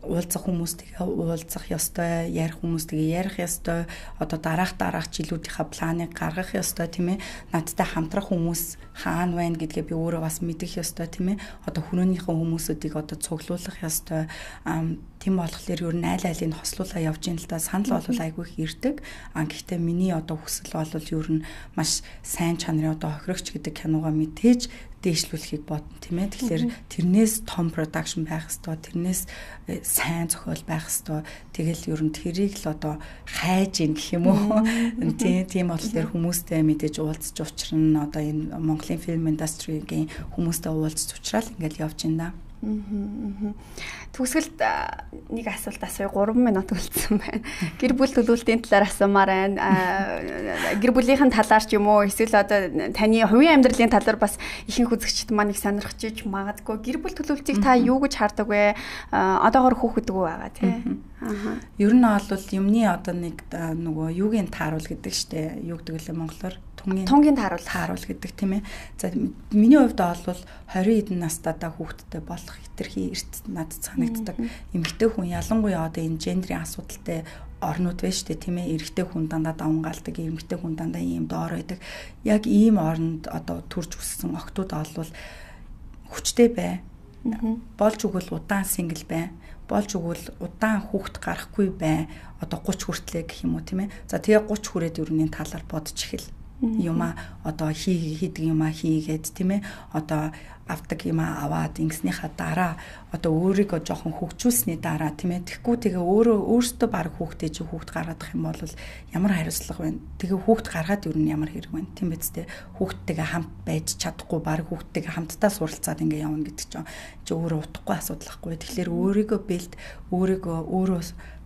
уулзах хүмүүстэйгээ уулзах ёстой, ярих хүмүүстэйгээ ярих ёстой, одоо дараах жилүүдийнхаа планыг гаргах ёстой тийм ээ. Надтай хамтрах хүмүүс хаана байна гэдгээ би өөрөө бас мэдэх ёстой тийм ээ. Одоо хүрөөнийхөө хүмүүсүүдийг одоо цуглуулах ёстой. Тийм болохоор ер нь айл айлыг хослуулаа явж ийн л да. Санал бол айгүй их ирдэг. Гэхдээ миний одоо хүсэл бол ер нь маш сайн чанарын одоо хохирогч гэдэг киногаа мэдээж дээшлүүлэхийг бодно тийм ээ. Тэгэхээр тэрнээс том production байх ёстой. Тэрнээс сайн зохиол байх ёстой. Тэгэл ер нь тэрийг л одоо хайж ийн гэх юм уу. Тийм болохоор хүмүүстэй мэдээж уулзч учрна. Одоо энэ Монголын film industry-гийн хүмүүстэй уулзч учрал ингээл явж ийн да. Төгсгөлд нэг асуулт асууя 3 минут үлдсэн байна. Гэр бүл төлөвлөлтийн талаар асуумаар байна. Гэр бүлийнхэн талаар ч юм уу эсвэл одоо таны хувийн амьдралын талаар бас ихэнх үзэгчд маань их сонирхож иж магадгүй. Гэр бүл төлөвлөлтийг та юу гэж хардаг вэ? Одоогоор хүүхэд үгүй байгаа тийм. Ер нь бол юмны одоо нэг нөгөө юугийн тааруул гэдэг штэ. Юу гэдэг вэ монголоор? Тунгийн тааруул гэдэг тийм ээ. За миний хувьд бол 20 хэдэн настайдаа хүүхэдтэй болох хэтэрхий эрт надад санагддаг. Эмэгтэй хүн ялангуяа одоо энэ гендрийн асуудалтай орнууд байна шүү дээ тийм ээ. Эрэгтэй хүн дандаа давангаалдаг, эмэгтэй хүн дандаа ийм доор байдаг. Яг ийм орнд одоо төрж өссөн охтууд бол хүчтэй бай. Болж өгвөл удаан сингл бай. Болж өгвөл удаан хүүхэд гарахгүй бай. Одоо 30 хүртлээ гэх юм уу тийм ээ. За тэгээ 30 хүрээд ерөнхий талаар бодож эхэл. Юма одоо хийдэг юма хийгээд тийм ээ. Одоо авдаг юма аваад ингэснийхаа дараа одоо өөрийгөө жоохон хөгжүүлсний дараа тийм ээ. Тэгэхгүй тэгээ өөрөөсөө баг хүүхдээ чи хүүхд гаргадах юм бол ямар хариуцлага байна? Тэгээ хүүхд гаргаад юу ямар хэрэг байна? Тийм биз дээ. Хүүхдтэйгээ хамт байж чадахгүй баг хүүхдтэйгээ хамтдаа суралцаад ингээ явна гэдэг чинь чи өөрөө утгагүй асуудал байхгүй. Тэгэхээр өөрийгөө бэлд, өөрөө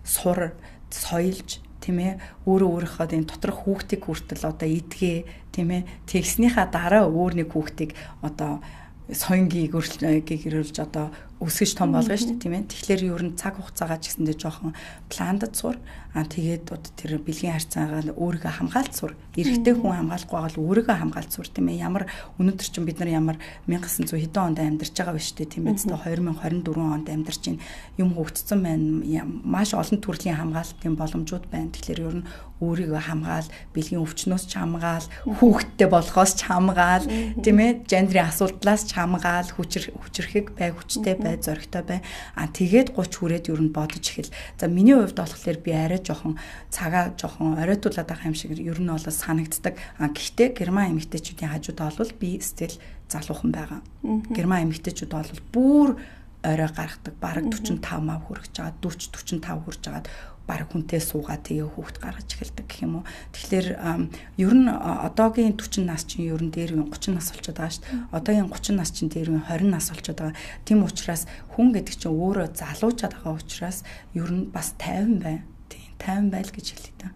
сур, соёлж тийм ээ өөрийнхөө энэ доторх хүүхдийг хүртэл одоо идгээ тийм ээ тэгснийхаа дараа өөр нэг хүүхдийг одоо соёнгийн гэрүүлж одоо өсгөж том болгоно шүү дээ тийм ээ. Тэгэхээр ер нь цаг хугацаагаа ч гэсэндээ жоохон пландад сур. Тэгээд одоо тэр бэлгийн харьцаагаа өөрийгөө хамгаалт сур. Эрэгтэй хүн хамгаалахгүй байгаа л өөрийгөө хамгаалт сур тийм ээ. Ямар өнөөдөр чинь бид нар ямар 1900 хэдэн онд амьдарч байгаа биш үү тийм ээ. 2024 онд амьдарч байна. Юм хөгжсөн байна. Маш олон төрлийн хамгаалтын боломжууд байна. Тэгэхээр ер нь өөрийгөө хамгаал, бэлгийн өвчнөөс ч хамгаал, хүүхэдтэй болохоос ч хамгаал, тийм ээ, гендрийн асуудлаас ч хамгаал, хүчрэхэг бай, хүчтэй бай, зоригтой бай. Тэгээд 30 хүрээд ер нь бодож эхэл. За миний хувьд болохоор би арай жоохон цагаа жоохон оройтуулаад байгаа юм шиг ер нь бол санагддаг. Гэхдээ герман эмэгтэйчүүдийн хажуудаа бол би стил залуухан байгаа. Герман эмэгтэйчүүд бол бүр орой гаргадаг, бараг 45 мав хүрэж байгаа, 40 45 хүрж байгаа. Бараг хүнтэй суугаад тэгээ хүүхд гаргаж эхэлдэг гэх юм уу. Тэгэхээр ер нь одоогийн 40 нас чинь ер нь дээр үе 30 нас болчиход байгаа шүү дээ. Одоогийн 30 нас чинь дээр үе 20 нас болчиход байгаа. Тийм учраас хүн гэдэг чинь өөрөө залуучаад байгаа учраас ер нь бас 50 байна. Тийм 50 байл гэж хэлээ та.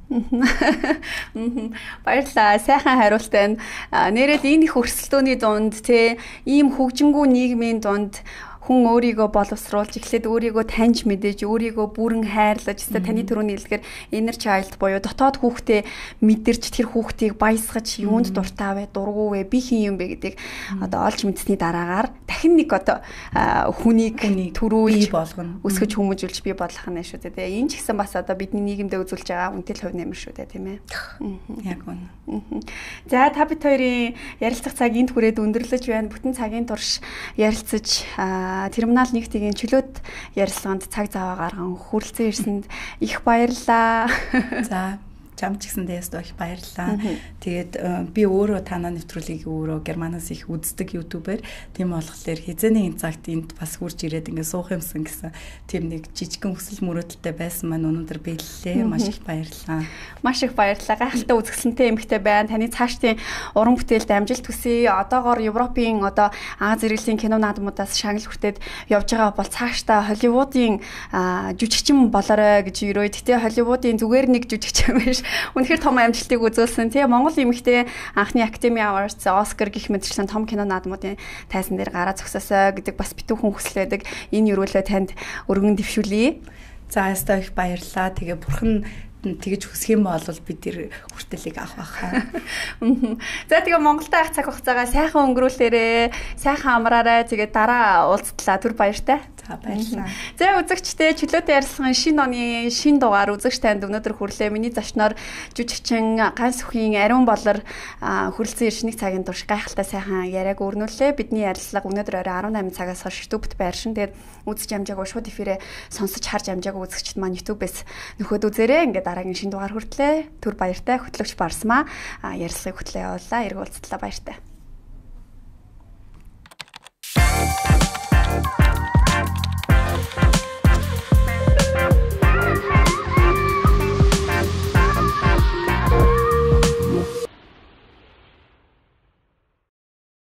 Баярлалаа. Сайхан хариулт байна. Нэрэл энэ их өрсөлдөөний дунд те ийм хөгжингүү нийгмийн дунд хүн өөрийгөө боловсруулж эхлээд өөрийгөө таньж мэдээж өөрийгөө бүрэн хайрлаж өстой таны түрүүний хэлдгээр inner child буюу дотоод хүүхдээ мэдэрч тэр хүүхдийг баясгаж юунд дуртай вэ дургуу вэ би хин юм бэ гэдгийг одоо олж мэдсэний дараагаар дахин нэг одоо хүнийг төрүүлж болгоно өсгөж хүмүүжүүлж бий болгох нь шүү дээ тэгээ энэ ч гэсэн бас одоо бидний нийгэмдээ үзүүлж байгаа үнэтэй хувь нэмэр шүү дээ тийм ээ яг үнэ за та бид хоёрын ярилцах цаг энд хүрээд өндөрлөж байна бүтэн цагийн турш ярилцаж терминал 1-ийн чөлөөт ярилцлаганд цаг зав гарган хүрэлцэн ирсэнд их баярлалаа. За чам ч гэсэн дэст их баярлалаа. Тэгээд би өөрөө танаа нэвтрүүлгийг өөрөө германаас их үздэг ютубер. Тийм болохоор хизээний энэ цагт энд бас хурж ирээд ингээ суух юмсан гэсэн тийм нэг жижигхэн хүсэл мөрөөдөлтэй байсан маань өнөөдөр биеллээ. Маш их баярлалаа. Маш их баярлалаа. Гайхалтай үзэсгэлэнтэй эмэгтэй байна. Таны цаашдын уран бүтээлд амжилт хүсье. Одоогоор Европын одоо Аз зэрэглэлийн кино наадмуудаас шагнал хүртээд явж байгаа бол цаашдаа Холливуудын жүжигчин болоорой гэж өрөө. Гэтэ Холливуудын зүгээр нэг жүжигчин биш. Үнэхээр том амжилтыг үзүүлсэн. Тэгээ Монгол эмэгтэй анхны Academy Awards, Oscar гэх мэтчлэн том кино наадмуудын тайзан дээр гараа зогсоосоо гэдэг бас битүүхэн хүсэл байдаг. Энэ өрөөлөө танд өргөн дэвшүүлье. За ястаа их баярлалаа. Тэгээ бурхан тэгэж хүсэх юм бол бид тэр хүртэлийг авах байхаа. За тэгээ Монголтай ах цаг хугацаагаа сайхан өнгөрүүлээрэ, сайхан амраарай. Тэгээ дараа уулзтлаа. Түр баяртай. Баярлалаа. За үзэгчдээ чөлөөтэй ярилцлагын шинэ оны шинэ дугаар үзэгч танд өнөөдөр хүрлээ. Миний зочноор жүжигчин Ганс Үхийн Ариун Болор хүрэлцэн иршнийг цагийн турш гайхалтай сайхан яриаг өрнүүллээ. Бидний ярилцлага өнөөдөр орой 18 цагаас хойш YouTube-д байршин. Тэгээд үзэж амжаагүй шууд эфирээ сонсож харж амжаагүй үзэгчд маань YouTube-ээс нөхөд үзээрэй. Ингээд дараагийн шинэ дугаар хүртлээ. Түр баяртай хөтлөгч Барсмаа ярилцлагыг хөтлөө явууллаа. Эргүүлцлээ баяртай.